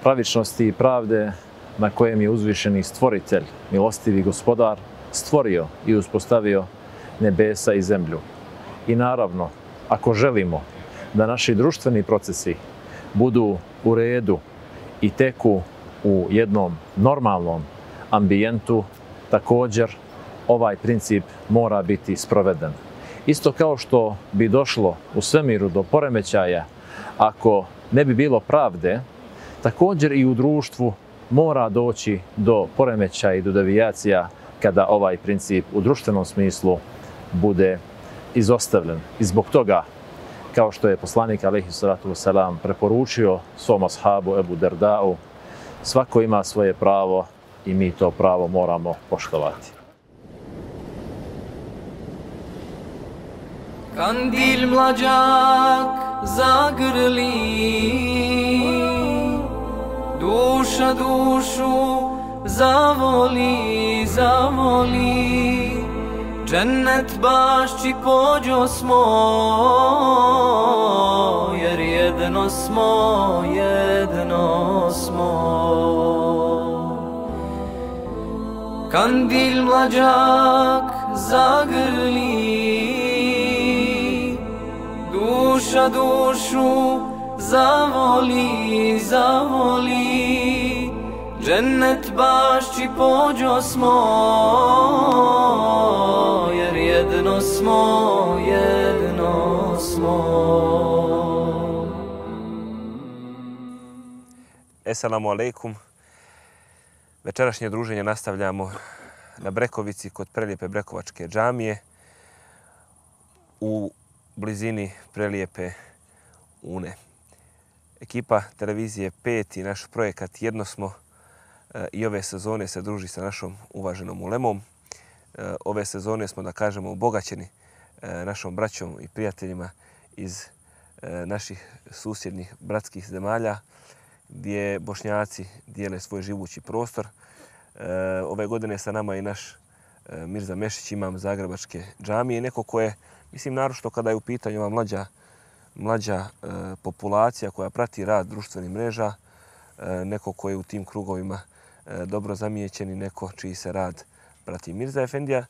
pravičnosti i pravde na kojem je uzvišeni stvoritelj, milostivi gospodar, stvorio i uspostavio nebesa i zemlju. I naravno, ako želimo da naši društveni procesi budu u redu i teku u jednom normalnom ambijentu, također ovaj princip mora biti sproveden. Isto kao što bi došlo u svemiru do poremećaja ako ne bi bilo pravde, također i u društvu mora doći do poremećaja i do devijacija kada ovaj princip u društvenom smislu bude izostavljen. I zbog toga, kao što je poslanik alejhi salatu vesselam preporučio svom ashabu Ebu Derdau, svako ima svoje pravo i mi to pravo moramo poštovati. Kandil mlađak zagrli, duša dušu zavoli, zavoli, džennet bašći pođo smo, jer jedno smo, jedno smo. Kandil mlađak zagrli, duša dušu zavoli, zavoli, džennet bašći pođo smo, jer jedno jedno smo, jedno smo. Esselamu alaikum. Večerašnje druženje nastavljamo na Brekovici kod prelijepe Brekovačke džamije u blizini prelijepe Une. Ekipa televizije pet i naš projekat Jedno smo i ove sezone se druži sa našom uvaženom ulemom. Ove sezone smo, da kažemo, obogaćeni našom braćom i prijateljima iz naših susjednih bratskih zemalja gdje Bošnjaci dijele svoj živući prostor. Ove godine sa nama i naš Mirza Mešić, imam Zagrebačke džamije, neko ko je, mislim, naročito kada je u pitanju ova mlađa, mlađa populacija koja prati rad društvenih mreža, neko ko je u tim krugovima dobro zamijećen i neko čiji se rad prati. Mirza Efendija,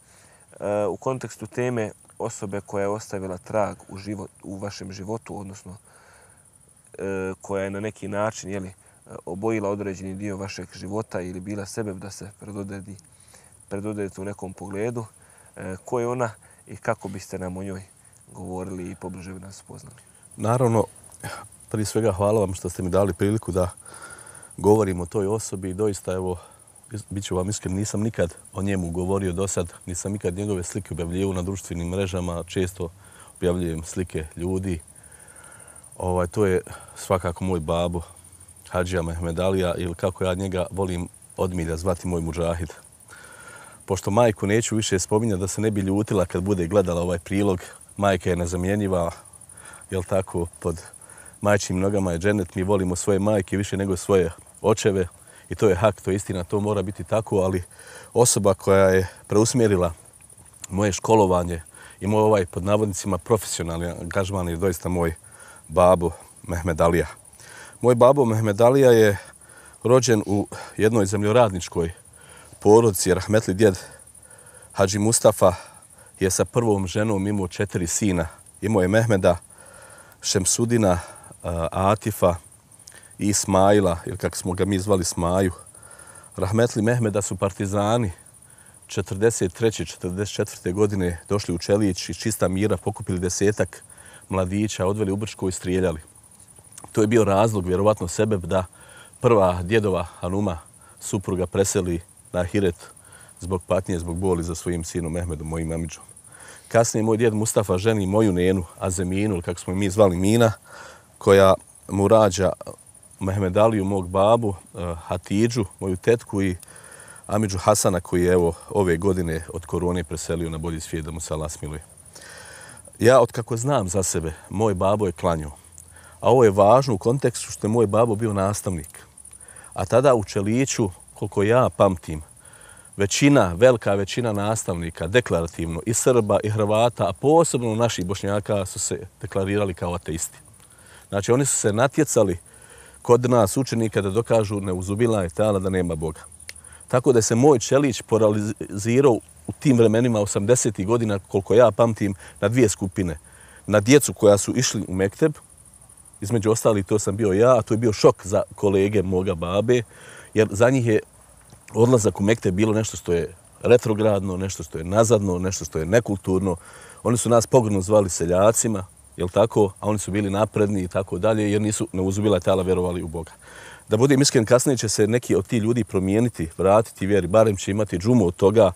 u kontekstu teme osobe koja je ostavila trag u, život, u vašem životu, odnosno koja je na neki način, jeli, obojila određeni dio vašeg života ili bila sebe da se predodredi, predodredite u nekom pogledu. Ko je ona i kako biste nam o njoj govorili i pobliže bi nas spoznali? Naravno, prije svega hvala vam što ste mi dali priliku da govorim o toj osobi i doista, evo, bit ću vam iskren, nisam nikad o njemu govorio do sad, nisam nikad njegove slike objavljivao na društvenim mrežama, često objavljujem slike ljudi. Ovaj, to je svakako moj babo, Hadžija Mehmed Alija, ili kako ja njega volim od milja zvati, moj mudžahid. Pošto majku neću više spominjati da se ne bi ljutila kad bude gledala ovaj prilog, majka je nezamjenjiva, jel tako, pod majčim nogama je dženet, mi volimo svoje majke više nego svoje očeve i to je hak, to je istina, to mora biti tako, ali osoba koja je preusmjerila moje školovanje i moj ovaj, pod navodnicima, profesionalni angažman je doista moj babo Mehmed Alija. Moj babo Mehmed Alija je rođen u jednoj zemljoradničkoj porodici. Rahmetli djed Hadži Mustafa je sa prvom ženom imao četiri sina. Imao je Mehmeda, Šemsudina, Atifa i Ismaila, ili kako smo ga mi zvali Smaju. Rahmetli Mehmeda su partizani četrdeset treće četrdeset četvrte godine došli u Čelić iz čista mira, pokupili desetak mladića, odveli u Brčko i strijeljali. To je bio razlog, vjerovatno sebeb, da prva djedova Hanuma, supruga, preseli na Ahiret zbog patnje, zbog boli za svojim sinom Mehmedom, mojim amidžom. Kasnije moj djed Mustafa ženi moju nenu, Azeminu, kako smo mi zvali Mina, koja mu rađa Mehmed Aliju, mog babu, Hatidžu, moju tetku i amidžu Hasana, koji je evo ove godine od korone preselio na bolji svijet, da mu se Allah smiluje. Ja, otkako znam za sebe, moj babo je klanjao. A ovo je važno u kontekstu što je moj babo bio nastavnik. A tada u Čeliću, koliko ja pamtim, većina, velika većina nastavnika, deklarativno, i Srba, i Hrvata, a posebno naših Bošnjaka, su se deklarirali kao ateisti. Znači, oni su se natjecali kod nas učenika da dokažu neuzubila je tala da nema Boga. Tako da se moj Čelić poralizirao u tim vremenima osamdesetih godina, koliko ja pamtim, na dvije skupine. Na djecu koja su išli u mekteb, između ostalih to sam bio ja, a to je bio šok za kolege moga babe, jer za njih je odlazak u mekteb bilo nešto što je retrogradno, nešto što je nazadno, nešto što je nekulturno. Oni su nas pogrdno zvali seljacima, jel tako, a oni su bili napredni i tako dalje, jer nisu neuzubila tala vjerovali u Boga. Da budem iskren, kasnije će se neki od ti ljudi promijeniti, vratiti vjeri, barem će imati džumu od toga,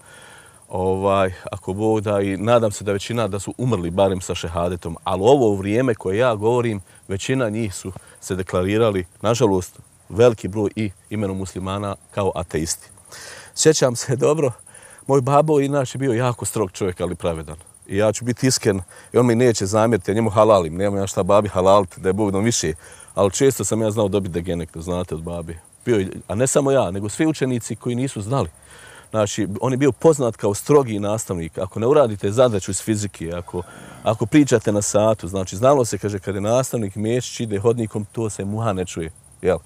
ovaj, ako Bog da, i nadam se da većina da su umrli barem sa šehadetom. Ali ovo vrijeme koje ja govorim, većina njih su se deklarirali, nažalost, veliki broj i imenom muslimana kao ateisti. Sjećam se dobro, moj babo inače bio jako strog čovjek, ali pravedan. I ja ću biti iskren, i on mi neće zamjeriti, ja njemu halalim, nema ja šta babi halaliti, da je Bog nam više. Ali često sam ja znao dobiti degenek, da znate, od babi. Bio, a ne samo ja, nego svi učenici koji nisu znali. Znači, on je bio poznat kao strogi nastavnik. Ako ne uradite zadaću iz fizike, ako, ako pričate na satu, znači, znalo se, kaže, kad je nastavnik Mešić ide hodnikom, to se muha ne čuje. Jel?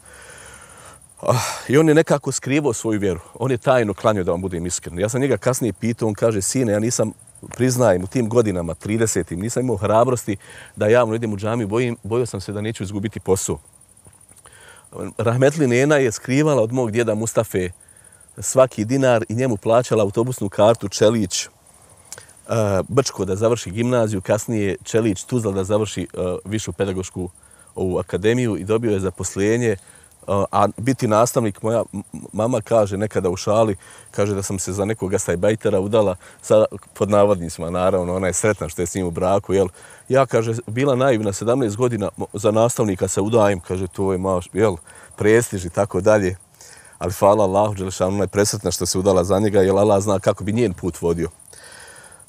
I on je nekako skrivao svoju vjeru. On je tajno klanjao, da vam budem iskren. Ja sam njega kasnije pitao, on kaže, sine, ja nisam, priznajem, u tim godinama, tridesetim, nisam imao hrabrosti da javno idem u džamiju, bojim, bojio sam se da neću izgubiti posao. Rahmetli nena je skrivala od mog djeda Mustafe svaki dinar i njemu plaćala autobusnu kartu Čelić, Brčko da završi gimnaziju, kasnije Čelić Tuzla da završi višu pedagošku ovu akademiju i dobio je zaposlenje. A biti nastavnik, moja mama kaže nekada u šali, kaže da sam se za nekog gastajbajtera udala, sa, pod navodnicima naravno, ona je sretna što je s njim u braku, jel? Ja, kaže, bila naivna, sedamnaest godina za nastavnika se udajem, kaže, to je malo, jel, prestiž i tako dalje. Ali hvala Allahu, Đelešanu, ona je presretna što se udala za njega, jer Allah zna kako bi njen put vodio.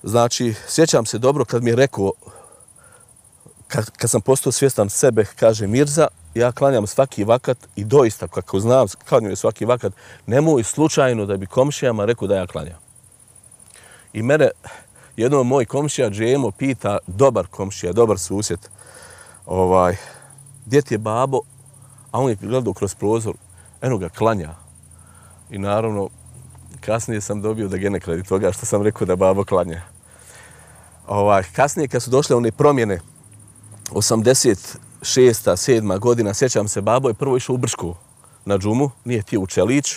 Znači, sjećam se dobro kad mi je rekao, kad, kad sam postao svjestan sebe, kaže Mirza, ja klanjam svaki vakat i doista, kako znam, klanjam svaki vakat, nemoj slučajno da bi komšijama rekao da ja klanjam. I mene jednom moj komšija Džemo pita, dobar komšija, dobar susjed, ovaj, gdje ti je babo, a on je gledao kroz prozor, eno ga klanja. I naravno, kasnije sam dobio da genek radi toga što sam rekao da babo klanja. Ovaj, kasnije kad su došle one promjene, osamdeset šesta, sedma godina, sjećam se, babo je prvo išao u Brčko na džumu, nije htio u Čelić,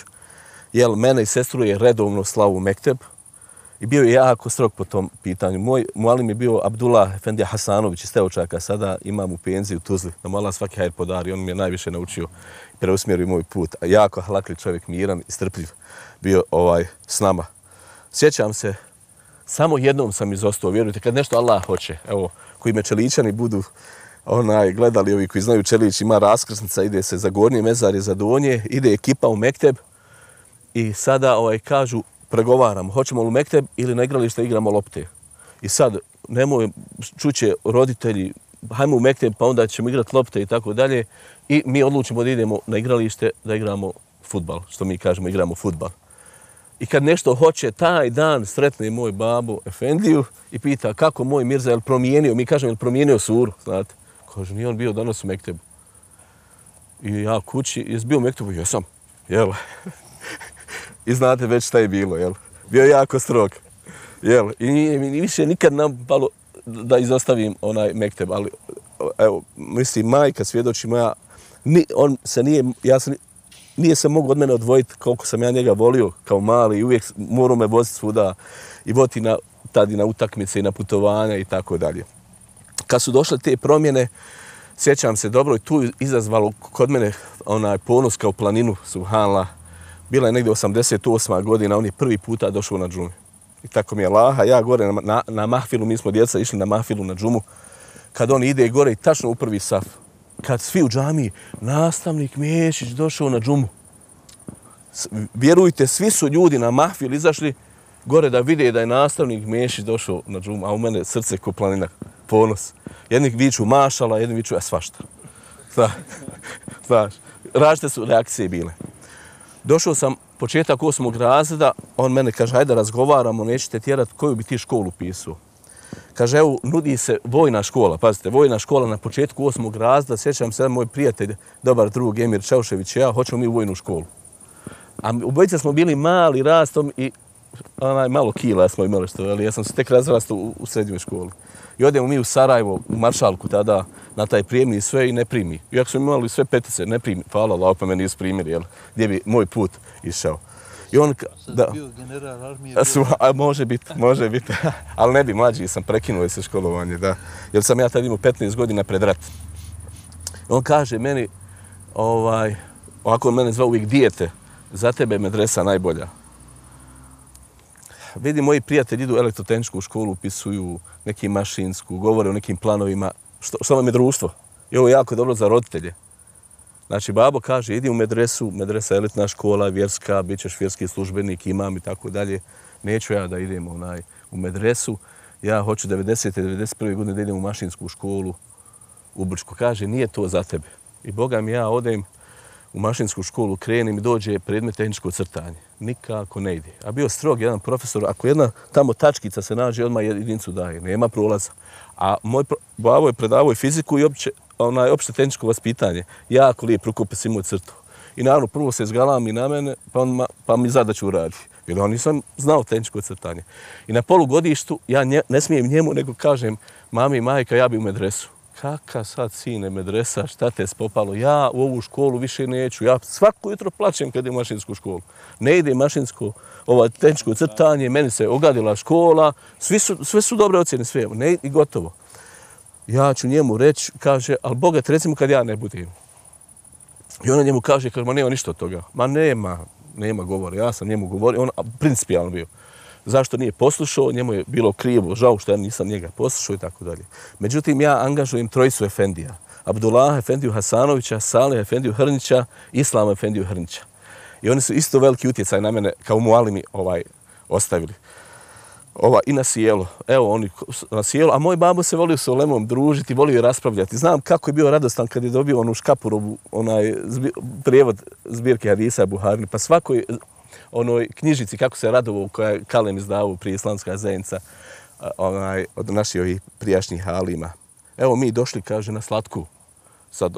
jer mene i sestru je redovno slavu u mekteb i bio je jako strog po tom pitanju. Moj mualim je bio Abdullah Efendija Hasanović iz Teočaka, sada imam u penziji u Tuzli, da mu Allah svaki hajr podari, on mi je najviše naučio i preusmjerio moj put. A jako halakli čovjek, miran i strpljiv, bio ovaj s nama. Sjećam se, samo jednom sam izostao, vjerujte, kad nešto Allah hoće, evo, koji me Čeličani budu onaj, gledali, ovi koji znaju, Čelić ima raskrsnica, ide se za gornje mezarje, za donje, ide ekipa u mekteb i sada ovaj, kažu, pregovaramo, hoćemo li u mekteb ili na igralište igramo lopte. I sad, nemoj, čuće roditelji, hajmo u mekteb, pa onda ćemo igrati lopte i tako dalje. I mi odlučimo da idemo na igralište, da igramo fudbal, što mi kažemo, igramo fudbal. I kad nešto hoće, taj dan sretne moj babo Efendiju i pita kako moj Mirza je li promijenio, mi kažemo je li promijenio suru, znate. Kaže, nije on bio danas u mektebu. I ja kući, jesi bio u mektebu? Jesam, jel? I znate već šta je bilo, jel? Bio je jako strog, jel? I nije mi više nikad nam palo da izostavim onaj mekteb, ali evo, mislim, majka svjedoči moja, ni, on se nije, ja sam, nije se mogu od mene odvojiti koliko sam ja njega volio kao mali i uvijek morao me voziti svuda i voti na, tadi na utakmice i na putovanja i tako dalje. Kad su došle te promjene, sjećam se dobro i tu izazvalo kod mene onaj ponos kao planinu, subhanallah. Bila je negdje osamdeset osma godina, on je prvi puta došao na džumu. I tako mi je laha, ja gore na, na, na mahfilu, mi smo djeca išli na mahfilu na džumu. Kad on ide gore i tačno u prvi saf, kad svi u džamiji, nastavnik Miješić došao na džumu. Vjerujte, svi su ljudi na mahfil izašli gore da vide da je nastavnik Miješić došao na džumu, a u mene srce ko planina, ponos. Jedni viču mašala, jedni viču a svašta. Znaš, različite su reakcije bile. Došao sam početak osmog razreda, on mene kaže, hajde razgovaramo, nećete tjerati koju bi ti školu pisao. Kaže, evo, nudi se vojna škola, pazite, vojna škola na početku osmog razreda, sjećam se, moj prijatelj, dobar drug Emir Čaušević i ja, hoćemo mi u vojnu školu. A obojica smo bili mali rastom i onaj, malo kila smo imali što, ali ja sam se tek razrastao u, u srednjoj školi. I odemo mi u Sarajevo, u Maršalku tada, na taj prijemni i sve i ne primi. Iako smo imali sve petice, ne primi. Hvala Allah, pa me nisu primili, jel? Gdje bi moj put išao. I on, da, bio general armije. Bio... A, može biti, može biti. Ali ne bi, mlađi sam, prekinuo se školovanje, da. Jer sam ja tad imao petnaest godina pred rat. On kaže meni, ovaj, ovako on mene zvao uvijek dijete, za tebe je medresa najbolja. Vidi, moji prijatelji idu u elektrotehničku školu, upisuju neki mašinsku, govore o nekim planovima. Što, što vam je društvo? I ovo je jako dobro za roditelje. Znači, babo kaže, idi u medresu, medresa je elitna škola, vjerska, bit ćeš vjerski službenik, imam i tako dalje. Neću ja da idem onaj, u medresu. Ja hoću devedesete devedeset prve godine da idem u mašinsku školu u Brčku. Kaže, nije to za tebe. I Boga mi ja odem u mašinsku školu, krenim i dođe predmet tehničko crtanje. Nikako ne ide. A bio strog jedan profesor, ako jedna tamo tačkica se nađe, odmah jedinicu daje, nema prolaza. A moj babo je predavao i fiziku i opće, onaj, opšte tehničko vaspitanje. Jako lijep rukopis imao crtu. I naravno, prvo se izgalam i na mene, pa, on, pa mi zadaću uradi. Jer on nisam znao tehničko crtanje. I na polugodištu ja nje, ne smijem njemu, nego kažem, mami i majka, ja bi u medresu. kakav sad sine medresa, šta te spopalo, ja u ovu školu više neću, ja svako jutro plačem kad idem u mašinsku školu. Ne ide mašinsko, ovo tehničko crtanje, meni se ogadila škola, svi su, sve su dobre ocjene, sve, ne, i gotovo. Ja ću njemu reći, kaže, ali Boga te recimo kad ja ne budem. I ona njemu kaže, kaže, ma nema ništa od toga. Ma nema, nema govora, ja sam njemu govorio, on principijalno bio. Zašto nije poslušao, njemu je bilo krivo, žao što ja nisam njega poslušao i tako dalje. Međutim, ja angažujem trojicu efendija. Abdullah Efendiju Hasanovića, Salih Efendiju Hrnića, Islama Efendiju Hrnića. I oni su isto veliki utjecaj na mene kao mualimi ovaj, ostavili. Ova, I na sjelo. Evo, oni na sjelo. A moj babo se volio s Olemom družiti, volio raspravljati. Znam kako je bio radostan kad je dobio onu Škapurovu, onaj zbi, prijevod zbirke hadisa Buharine. Pa svakoj onoj knjižici kako se radovo koja je Kalem izdavao prije islamska zajednica onaj, od naših ovih prijašnjih halima. Evo mi došli, kaže, na slatku. Sad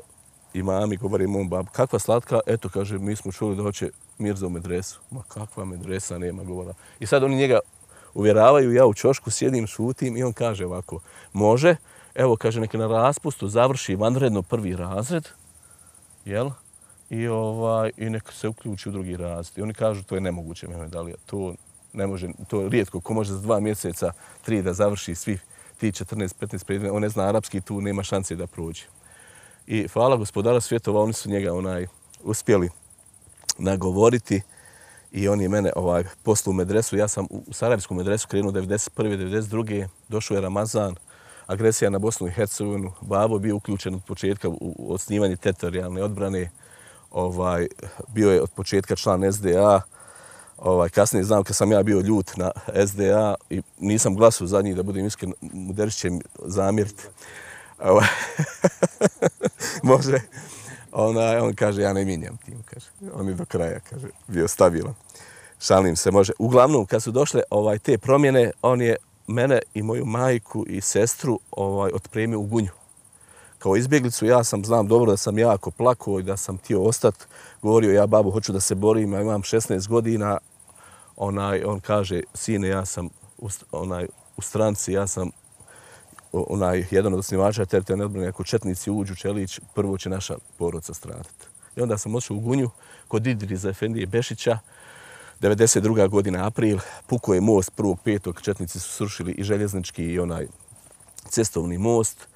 imami govori mom babu, kakva slatka? Eto, kaže, mi smo čuli da hoće Mirza u medresu. Ma kakva medresa, nema govora. I sad oni njega uvjeravaju, ja u čošku sjedim, šutim i on kaže ovako, može, evo, kaže, neka na raspustu završi vanredno prvi razred, jel? I, ovaj, i neka se uključi u drugi razred. I oni kažu, to je nemoguće, Mehmed Alija, to ne može, to je rijetko, ko može za dva mjeseca, tri da završi svih ti četrnaest petnaest predmeta, on ne zna arapski, tu nema šanse da prođe. I hvala gospodara svjetova, oni su njega onaj uspjeli nagovoriti i on je mene ovaj, poslao u medresu. Ja sam u Sarajevsku medresu krenuo devedeset prve devedeset druge Došao je Ramazan, agresija na Bosnu i Hercegovinu. Babo bio uključen od početka u osnivanje teritorijalne odbrane. Ovaj, bio je od početka član S D A. Ovaj, kasnije znam kad sam ja bio ljut na S D A i nisam glasao za njih, da budem iskren, Muderić će mi zamjeriti. Ovaj, može. Ona, on kaže, ja ne mijenjam tim, kaže. On je do kraja, kaže, bio stabilan. Šalim se, može. Uglavnom, kad su došle ovaj, te promjene, on je mene i moju majku i sestru ovaj, otpremio u Gunju. Kao izbjeglicu, ja sam, znam dobro da sam jako plakao i da sam htio ostati. Govorio, ja babu, hoću da se borim, ja imam šesnaest godina. Onaj, on kaže, sine, ja sam u, onaj, u stranci, ja sam onaj, jedan od osnivača teritorijalne odbrane, ako četnici uđu Čelić, prvo će naša porodca stradati. I onda sam otišao u Gunju kod Idriza Efendije Bešića, devedeset druga godina, april, pukao je most prvog petog četnici su srušili i željeznički i onaj cestovni most.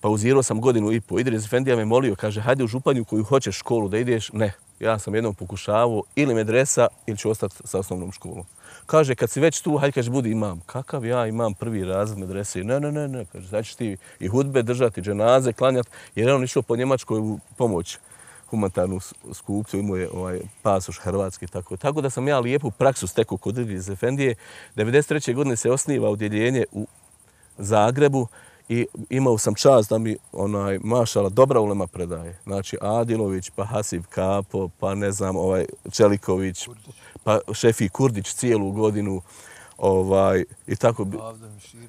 Pauzirao sam godinu i po. Idriz Efendija me molio, kaže, hajde u Županju koju hoćeš školu da ideš. Ne, ja sam jednom pokušavao ili medresa ili ću ostati sa osnovnom školom. Kaže, kad si već tu, hajde, kaže, budi imam. Kakav ja imam prvi razred medrese? Ne, ne, ne, ne, kaže, sad ćeš ti i hudbe držati, dženaze, klanjati, jer je on išao po Njemačkoj u pomoć humanitarnu skupcu, imao je ovaj, pasoš hrvatski, tako. Tako da sam ja lijepu praksu stekao kod Idriz Efendije. devedeset treće godine se osniva odjeljenje u Zagrebu i imao sam čast da mi onaj mašala dobra ulema predaje. Znači Adilović, pa Hasib Kapo, pa ne znam, ovaj Čeliković, pa Šefi Kurdić cijelu godinu, ovaj i tako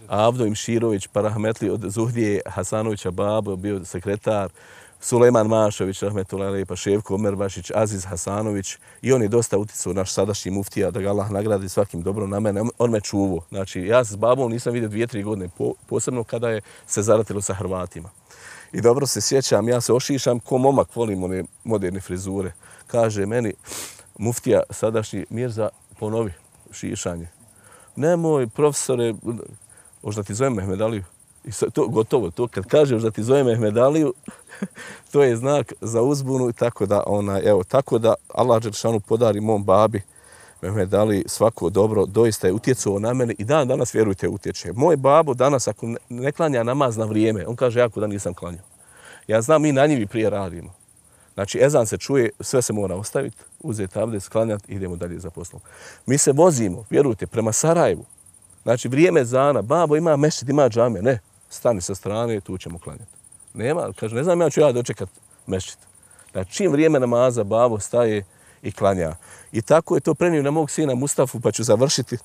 Avdo Imširović, pa rahmetli od Zuhdije Hasanovića babo bio sekretar, Sulejman Mašović, rahmetullahi alejhi, pa Ševko Omerbašić, Aziz Hasanović i on je dosta uticao, naš sadašnji muftija, da ga Allah nagradi svakim dobrom na mene. On me čuvao. Znači, ja s babom nisam vidio dvije, tri godine, posebno kada je se zaratilo sa Hrvatima. I dobro se sjećam, ja se ošišam ko momak, volim one moderne frizure. Kaže meni muftija sadašnji, Mirza, ponovi šišanje. Nemoj, profesore, možda ti zovem Mehmed Aliju. I to gotovo, to kad kažeš da ti zove Mehmed Aliju, to je znak za uzbunu i tako da ona, evo, tako da Allah dželešanu podari mom babi Mehmed Ali svako dobro, doista je utjecao na mene i dan danas, vjerujte, utječe. Moj babo danas ako ne klanja namaz na vrijeme, on kaže jako da nisam klanjao. Ja znam, mi na njivi prije radimo. Znači, ezan se čuje, sve se mora ostaviti, uzeti abdest, klanjati i idemo dalje za poslom. Mi se vozimo, vjerujte, prema Sarajevu. Znači, vrijeme ezana, babo ima mešćid, ima džame, ne. Stani sa strane, tu ćemo klanjati. Nema, kaže, ne znam ja ću ja dočekat mešćid. Znači, čim vrijeme namaza, babo staje i klanja. I tako je to prenio na mog sina Mustafu, pa ću završiti.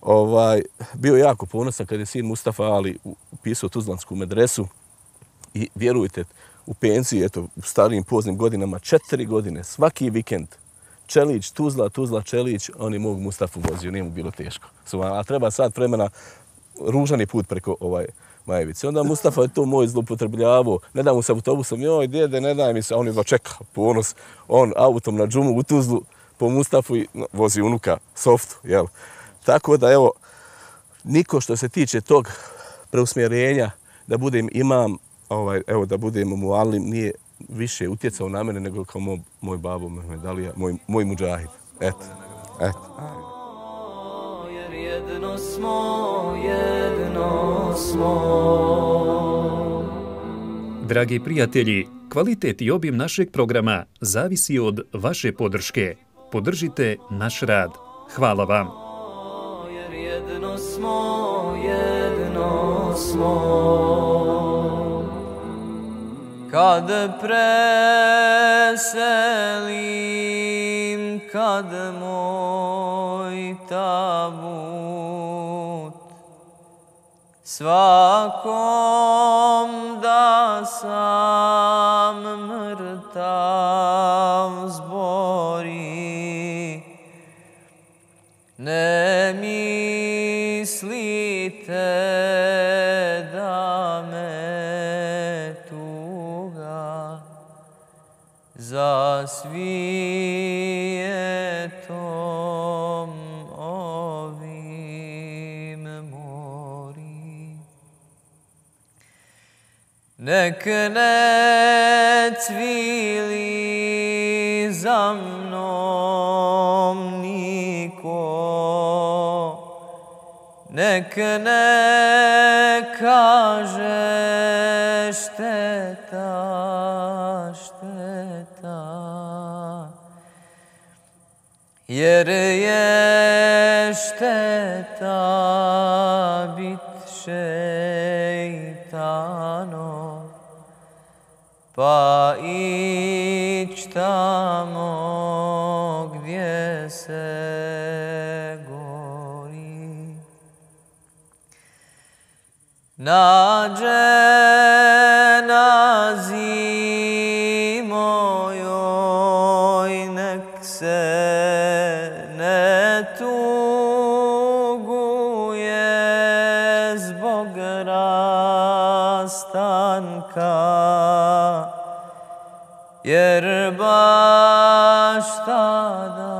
Ovaj, bio jako ponosan kad je sin Mustafa Ali upisao Tuzlansku medresu. I vjerujte, u pensiji, eto, u starijim poznim godinama, četiri godine, svaki vikend, Čelić, Tuzla, Tuzla, Čelić, on je mog Mustafu vozio, nije mu bilo teško. A treba sad vremena, ružan je put preko ovaj, Majevice. Onda Mustafa je to moj zloupotrebljavao. Ne da mu se autobusom, joj djede, ne daj mi se. A on je čeka, ponos. On autom na džumu u Tuzlu po Mustafu i no, vozi unuka softu, jel? Tako da, evo, niko što se tiče tog preusmjerenja da budem imam, ovaj, evo, da budem mualim, nije više utjecao na mene nego kao moj, moj babo Mehmed Alija, moj, moj muđahid. Eto, eto. Jer jedno smo, jedno smo. Dragi prijatelji, kvalitet i obim našeg programa zavisi od vaše podrške. Podržite naš rad. Hvala vam. Jer jedno smo, jedno smo. Kad preselim, kad moj tabut svakom da sam mrtav zbori, ne mislite da me tuga za svijetom ovim mori. Nek ne cvili za mnom niko, nek ne kaže šteta, šteta, jer je šteta bit šeitanov, pa ić tamo gdje se gori. Nađe na zimojoj, nek se ne tuguje zbog rastanka, jer baš tada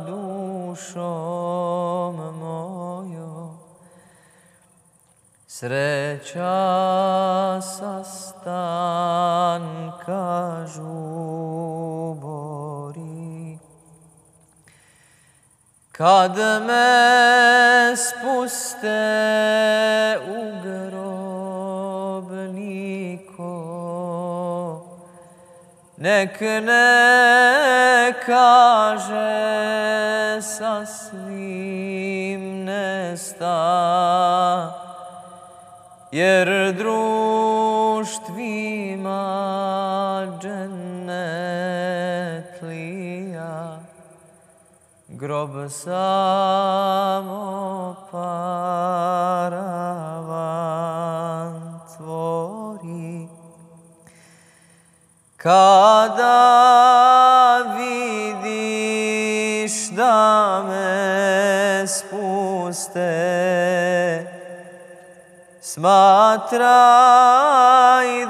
dušom mojom sreća sastanka žubori. Kad me spuste u grob niko, nek ne kaže sasvim nesta, jer društvima džennetlija grob samo paravan tvori. Kada vidiš da me spuste, smatraj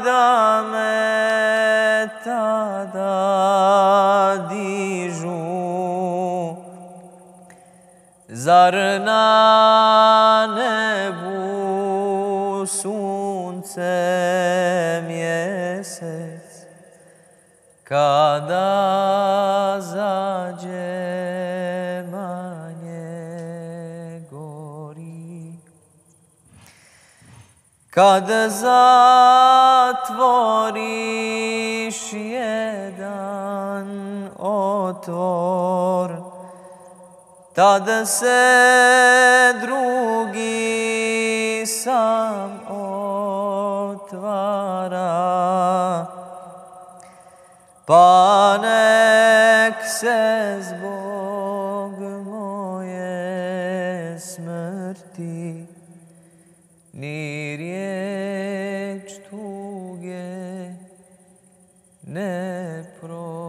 da me tada dižu. Zar na nebu sunce mjesec kada zađe manje gori? Kad zatvoriš jedan otvor, tad se drugi sam otvara, pa nek se zbog moje smrti ni riječ tuge ne prozbori.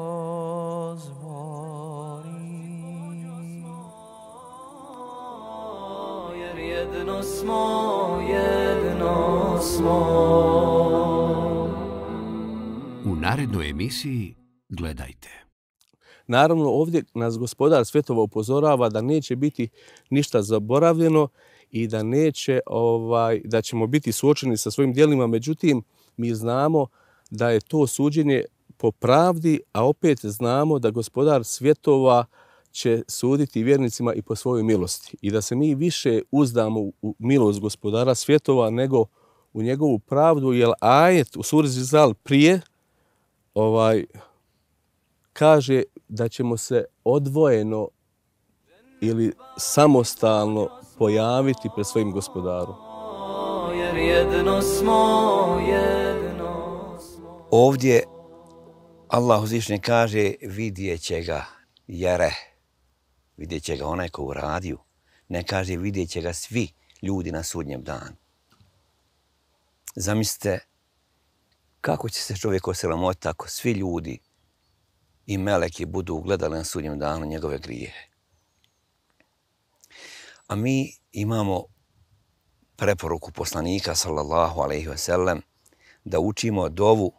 Jer jedno smo, jedno smo. U narednoj emisiji gledajte. Naravno, ovdje nas gospodar svjetova upozorava da neće biti ništa zaboravljeno i da neće, ovaj, da ćemo biti suočeni sa svojim djelima. Međutim, mi znamo da je to suđenje po pravdi, a opet znamo da gospodar svjetova će suditi vjernicima i po svojoj milosti. I da se mi više uzdamo u milost gospodara svjetova nego u njegovu pravdu, jer ajet u suri Zilzal prije ovaj, kaže da ćemo se odvojeno ili samostalno pojaviti pred svojim gospodarom. Jer jedno smo, jedno smo. Ovdje Allah uzvišeni kaže vidjet će ga jere, vidjet će ga onaj ko uradio, ne kaže vidjet će ga svi ljudi na sudnjem danu. Zamislite kako će se čovjek osramotiti ako svi ljudi i meleki budu ugledali na sudnjem danu njegove grijehe. A mi imamo preporuku poslanika sallallahu alejhi ve sellem da učimo dovu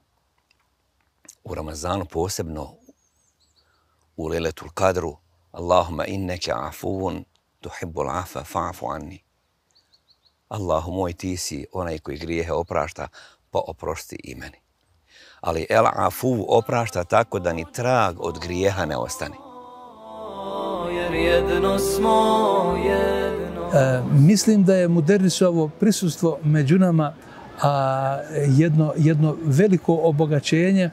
u Ramazanu, posebno u Lejletul Kadru. Allahumma inneke afuvun tuhibbul afa fa'fu anni. Allahu moj, ti si onaj koji grijehe oprašta, pa oprosti i meni. Ali el afu oprašta tako da ni trag od grijeha ne ostane. Jer jedno smo, jedno. E, mislim da je Muderrisovo prisustvo među nama a, jedno, jedno veliko obogaćenje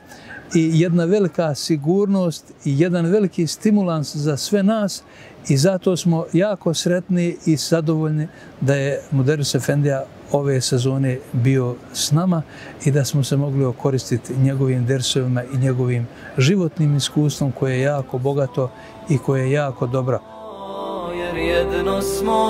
i jedna velika sigurnost i jedan veliki stimulans za sve nas i zato smo jako sretni i zadovoljni da je Muderris Efendija ove sezone bio s nama i da smo se mogli okoristiti njegovim dersovima i njegovim životnim iskustvom koje je jako bogato i koje je jako dobro. Jer jedno smo,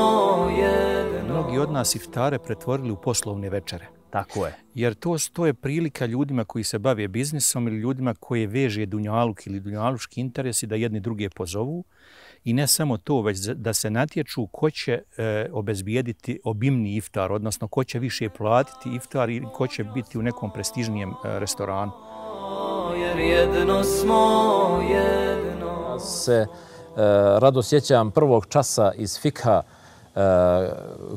jedno. Mnogi od nas iftare pretvorili u poslovne večere. Tako je. Jer to, to je prilika ljudima koji se bave biznisom ili ljudima koji veže dunjaluk ili dunjaluški interesi da jedni druge pozovu. I ne samo to, već da se natječu ko će e, obezbijediti obimni iftar, odnosno ko će više platiti iftar i ko će biti u nekom prestižnijem e, restoranu. Jer jedno smo, jedno. Se e, rado sjećam prvog časa iz fikha e,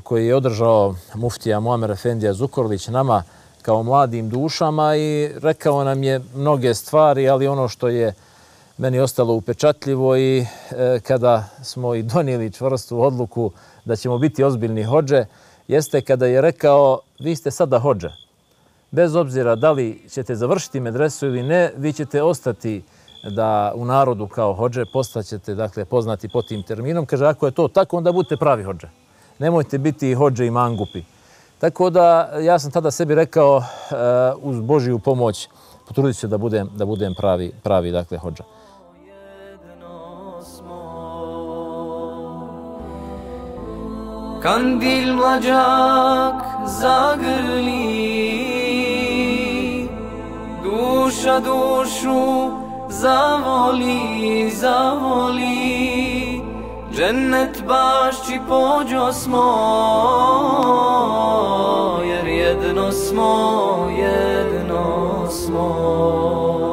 koji je održao muftija Muamer Efendija Zukorlić nama kao mladim dušama i rekao nam je mnoge stvari, ali ono što je meni ostalo upečatljivo i e, kada smo i donijeli čvrstu odluku da ćemo biti ozbiljni hodže, jeste kada je rekao vi ste sada hodže. Bez obzira da li ćete završiti medresu ili ne, vi ćete ostati da u narodu kao hodže, postaćete dakle, poznati po tim terminom. Kaže, ako je to tako, onda budete pravi hodže. Nemojte biti hodže i mangupi. Tako da ja sam tada sebi rekao uh, uz Božiju pomoć potrudit ću se da budem, da budem pravi, pravi dakle, hodža. Kandil mlađak zagrli, duša dušu zavoli, zavoli, džennet bašći pođo smo, jer jedno smo, jedno smo.